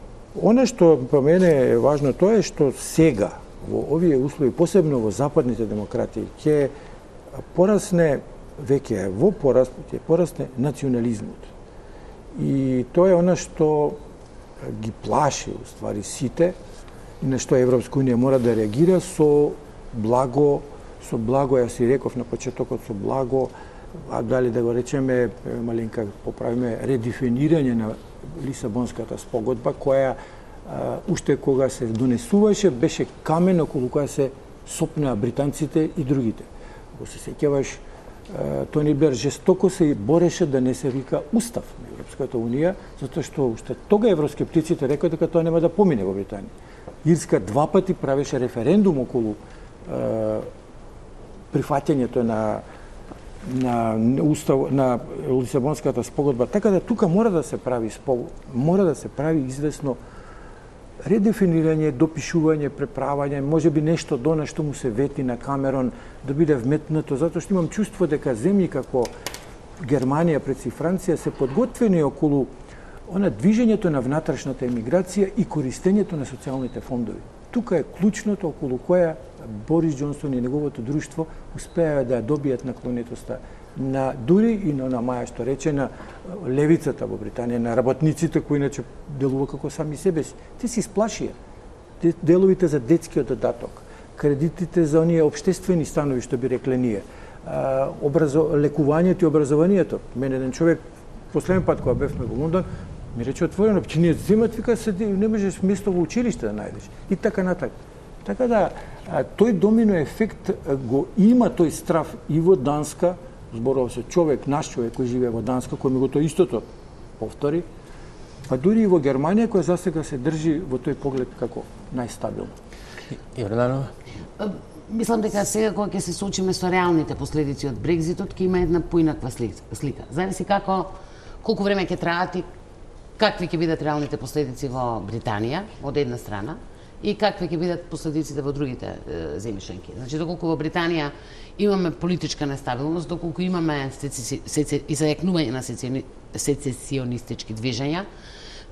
Оно што по мене е важно тоа е што сега во овие услови, посебно во западните демократии, ќе порасне, веќе во пораст, ќе порасне национализмот. И тоа е она што ги плаши, уствари, сите, и на што Европска Унија мора да реагира со благо, со благо, јас си реков на почетокот, со благо, а дали да го речеме, маленка поправиме, редефинирање на Лисабонската спогодба, која Uh, уште кога се донесуваше, беше камен околу која се сопнаа британците и другите. Ако се сеќаваш, uh, Тони Блер жестоко се бореше да не се вика устав на Европската Унија, затоа што уште тога евроскептиците рекоа дека тоа нема да помине во Британија. Ирска два пати правеше референдум околу uh, прифаќањето на на устав на Лисабонската спогодба, така да тука мора да се прави спог... мора да се прави известно редефинирање, допишување, преправање, може би нешто до на што му се вети на Камерон да биде вметнато, затоа што имам чувство дека земји како Германија, пред си Франција се подготвени околу она движењето на внатрешната емиграција и користењето на социјалните фондови. Тука е клучното околу која Борис Џонсон и неговото друштво успеа да добијат наклонетоста на дури и на, на Маја што рече на левицата во Британија, на работниците кои иначе делува како сами себе си. Те се исплашија. Деловите за детскиот додаток, кредитите за оние општествени станови што би рекле ние, образо, лекувањето и образованието. Мене еден човек последен пат кога бевме во Лондон ми рече отворено, че ние земат, вика, седи, не можеш место во училиште да најдеш. И така натак. Така да, тој домино ефект го има тој страв и во Данска, зборува се човек, наш човек кој живее во Данска, кој ми го тоа истото повтори, па дури и во Германија, која засега се држи во тој поглед како најстабилно. Јорданова? Мислам дека сега кога ќе се соочиме со реалните последици од Брекзитот, ќе има една поинаква слика. Зависи како, колку време ќе траат и какви ќе бидат реалните последици во Британија, од една страна, и какви ќе бидат последиците во другите е, земји членки. Значи, доколку во Британија имаме политичка нестабилност, доколку имаме изајакнување на сецесионистички движења,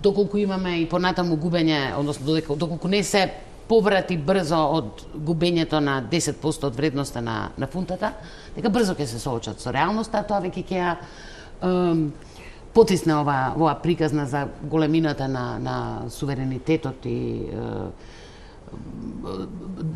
доколку имаме и понатаму губење, односно додека, доколку не се поврати брзо од губењето на десет проценти од вредноста на, на фунтата, дека брзо ќе се соочат со реалноста, тоа веќе ќе ја потисне ова, ова приказна за големината на, на суверенитетот и е,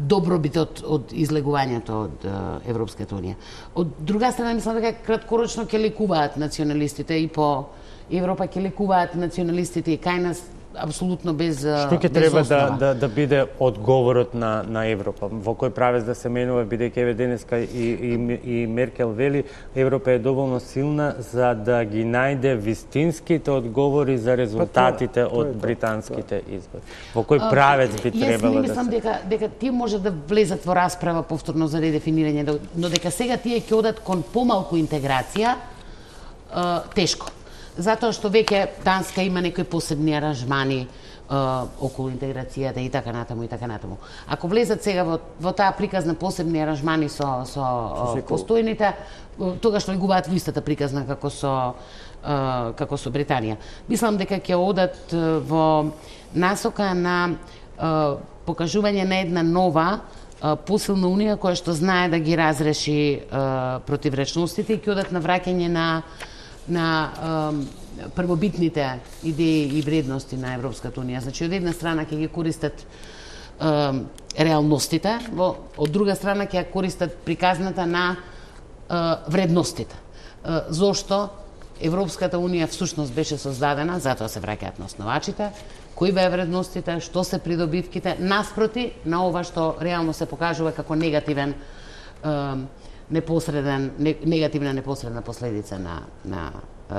добробитот од излегувањето од Европската унија. Од друга страна, мислам дека краткорочно ќе лекуваат националистите и по Европа ќе лекуваат националистите и кај нас апсолутно без Што ќе треба да, да, да биде одговорот на, на Европа? Во кој правец да се менува, бидејќи еве денеска и, и, и Меркел вели, Европа е доволно силна за да ги најде вистинските одговори за резултатите па, тоа, од тоа, британските тоа. избори. Во кој правец би требало да се... Јас мислам дека, дека тие може да влезат во расправа повторно за редефинирање, но дека сега тие ќе одат кон помалку интеграција, е, тешко. Затоа што веќе Данска има некои посебни аранжмани е, околу интеграцијата и така натаму и така натаму. Ако влезат сега во, во таа приказна посебни аранжмани со, со е, постојните, тогаш влегуваат во истата приказна како со, е, како со Британија. Мислам дека ќе одат во насока на е, покажување на една нова е, посилна унија која што знае да ги разреши е, противречностите и ќе одат на враќање на на е, првобитните идеи и вредности на Европската унија. Значи, од една страна ќе ги користат е, реалностите, во, од друга страна ќе користат приказната на е, вредностите. Е, зошто Европската унија всушност беше создадена, затоа се враќаат на основачите, кои беа вредностите, што се придобивките, наспроти на ова што реално се покажува како негативен е, непосреден, негативна непосредна последица на, на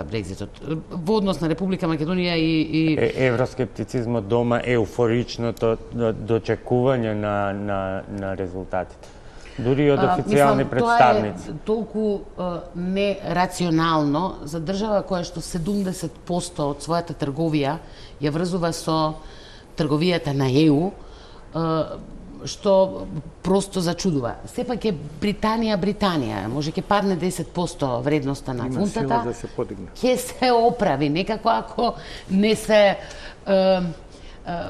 Брекзитот. Во однос на Република Македонија и... и... Е, евроскептицизмот дома, еуфоричното дочекување на, на, на резултатите. Дури од официјални а, представници. Тоа е толку а, нерационално за држава која што седумдесет проценти од својата трговија ја врзува со трговијата на Е У, а, што просто зачудува. Сепак е Британија, Британија, може ќе падне десет проценти вредноста на Има фунтата, да се подигне. Ќе се оправи, некако ако не се е, е,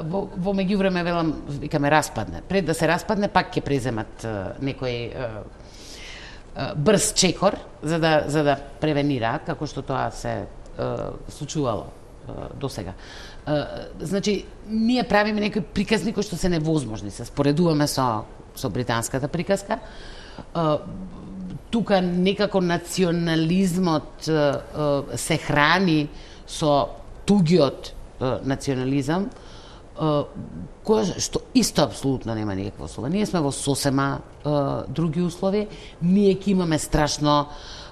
во, во меѓувреме велам, викаме распадне. Пред да се распадне, пак ќе преземат е, некој е, е, брз чекор за да за да превенираат, како што тоа се е, случувало е, до сега. Значи, ние правиме некои приказни кои што се невозможни, се споредуваме со, со британската приказка. Тука некако национализмот се храни со тугиот национализам, кој што исто апсолутно нема никаква услова. Ние сме во сосема други услови, ние ќе имаме страшно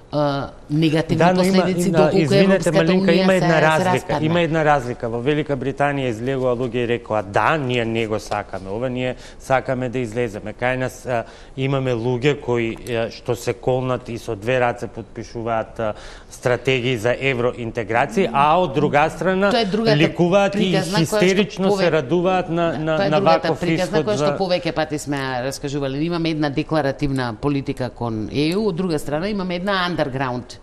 Uh, негативни да, последици има, доколку извинете, Малинка, има една се, разлика. се Има една разлика. Во Велика Британија излегува луѓе и рекоа да, ние не го сакаме ова, ние сакаме да излеземе. Кај нас а, имаме луѓе кои а, што се колнат и со две раце подпишуваат а, стратегии за евроинтеграција, а од друга страна ликуваат и хистерично пове... се радуваат на на да, на ваков исход. Тоа е другата приказна која што за... повеќе пати сме раскажували. Имаме една декларативна политика кон Е У, од друга страна имаме една underground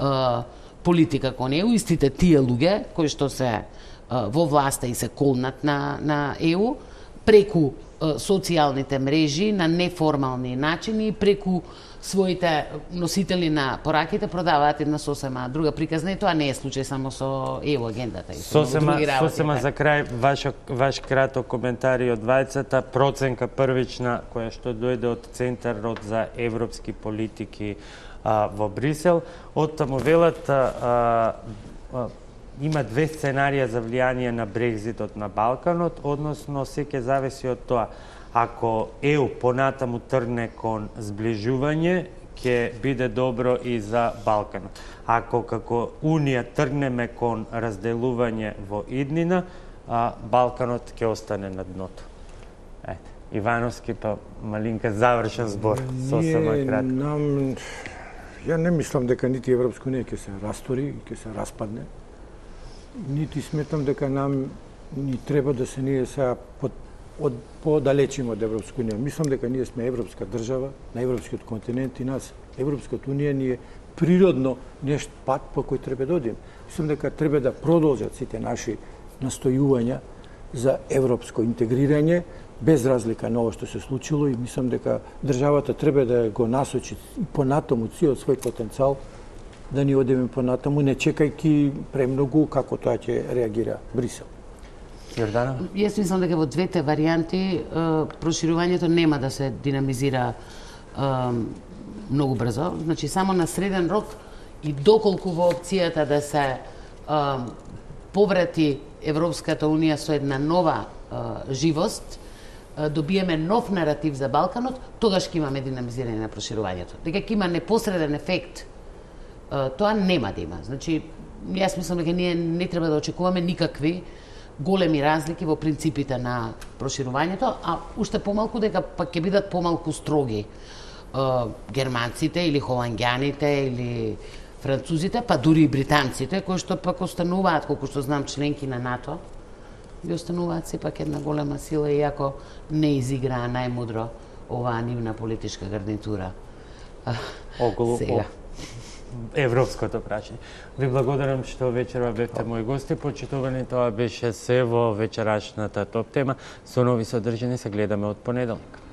uh, политика кон Е У, истите тие луѓе кои што се uh, во власта и се колнат на, на Е У, преку uh, социјалните мрежи, на неформални начини, преку своите носители на пораките продаваат една сосема друга приказна и тоа не е случај само со Е У агендата. И со сосема, сосема за крај, ваш, ваш краток коментар и од двајцата, проценка првична која што дојде од Центарот за европски политики а, во Брисел. Од таму велат а, а, има две сценарија за влијание на Брекзитот на Балканот, односно се ќе зависи од тоа. Ако Е У понатаму тргне кон сближување, ќе биде добро и за Балканот. Ако како Унија тргнеме кон разделување во иднина, а Балканот ќе остане на дното. Ете, Ивановски па Малинка завршен збор, сосема кратко. Нам, ја не мислам дека нити Европска унија ќе се растори, ќе се распадне. Нити сметам дека нам ни треба да се ние сега под од подалечимо од Европска унија. Мислам дека ние сме европска држава на европскиот континент и нас Европската унија ни е природно нешто пат по кој треба да одиме. Мислам дека треба да продолжат сите наши настојувања за европско интегрирање без разлика на ова што се случило и мислам дека државата треба да го насочи и понатаму целиот свој потенцијал да ни одиме понатаму, не чекајќи премногу како тоа ќе реагира Брисел. Јорданова? Јас мислам дека во двете варијанти проширувањето нема да се динамизира многу брзо. Значи, само на среден рок и доколку во опцијата да се поврати Европската Унија со една нова живост, добиеме нов наратив за Балканот, тогаш ќе имаме динамизирање на проширувањето. Дека ќе има непосреден ефект, тоа нема да има. Значи, јас мислам дека ние не треба да очекуваме никакви големи разлики во принципите на проширувањето, а уште помалку дека пак ќе бидат помалку строги германците или холанѓаните или французите, па дури и британците, кои што пак остануваат, колку што знам, членки на НАТО, ги остануваат сепак една голема сила, иако не изиграа најмудро оваа нивна политичка гарнитура. Околу сега. Европското прашање. Ви благодарам што вечерва бевте мои гости. Почитувани, тоа беше се во вечерашната топ тема. Со нови содржини се гледаме од понеделник.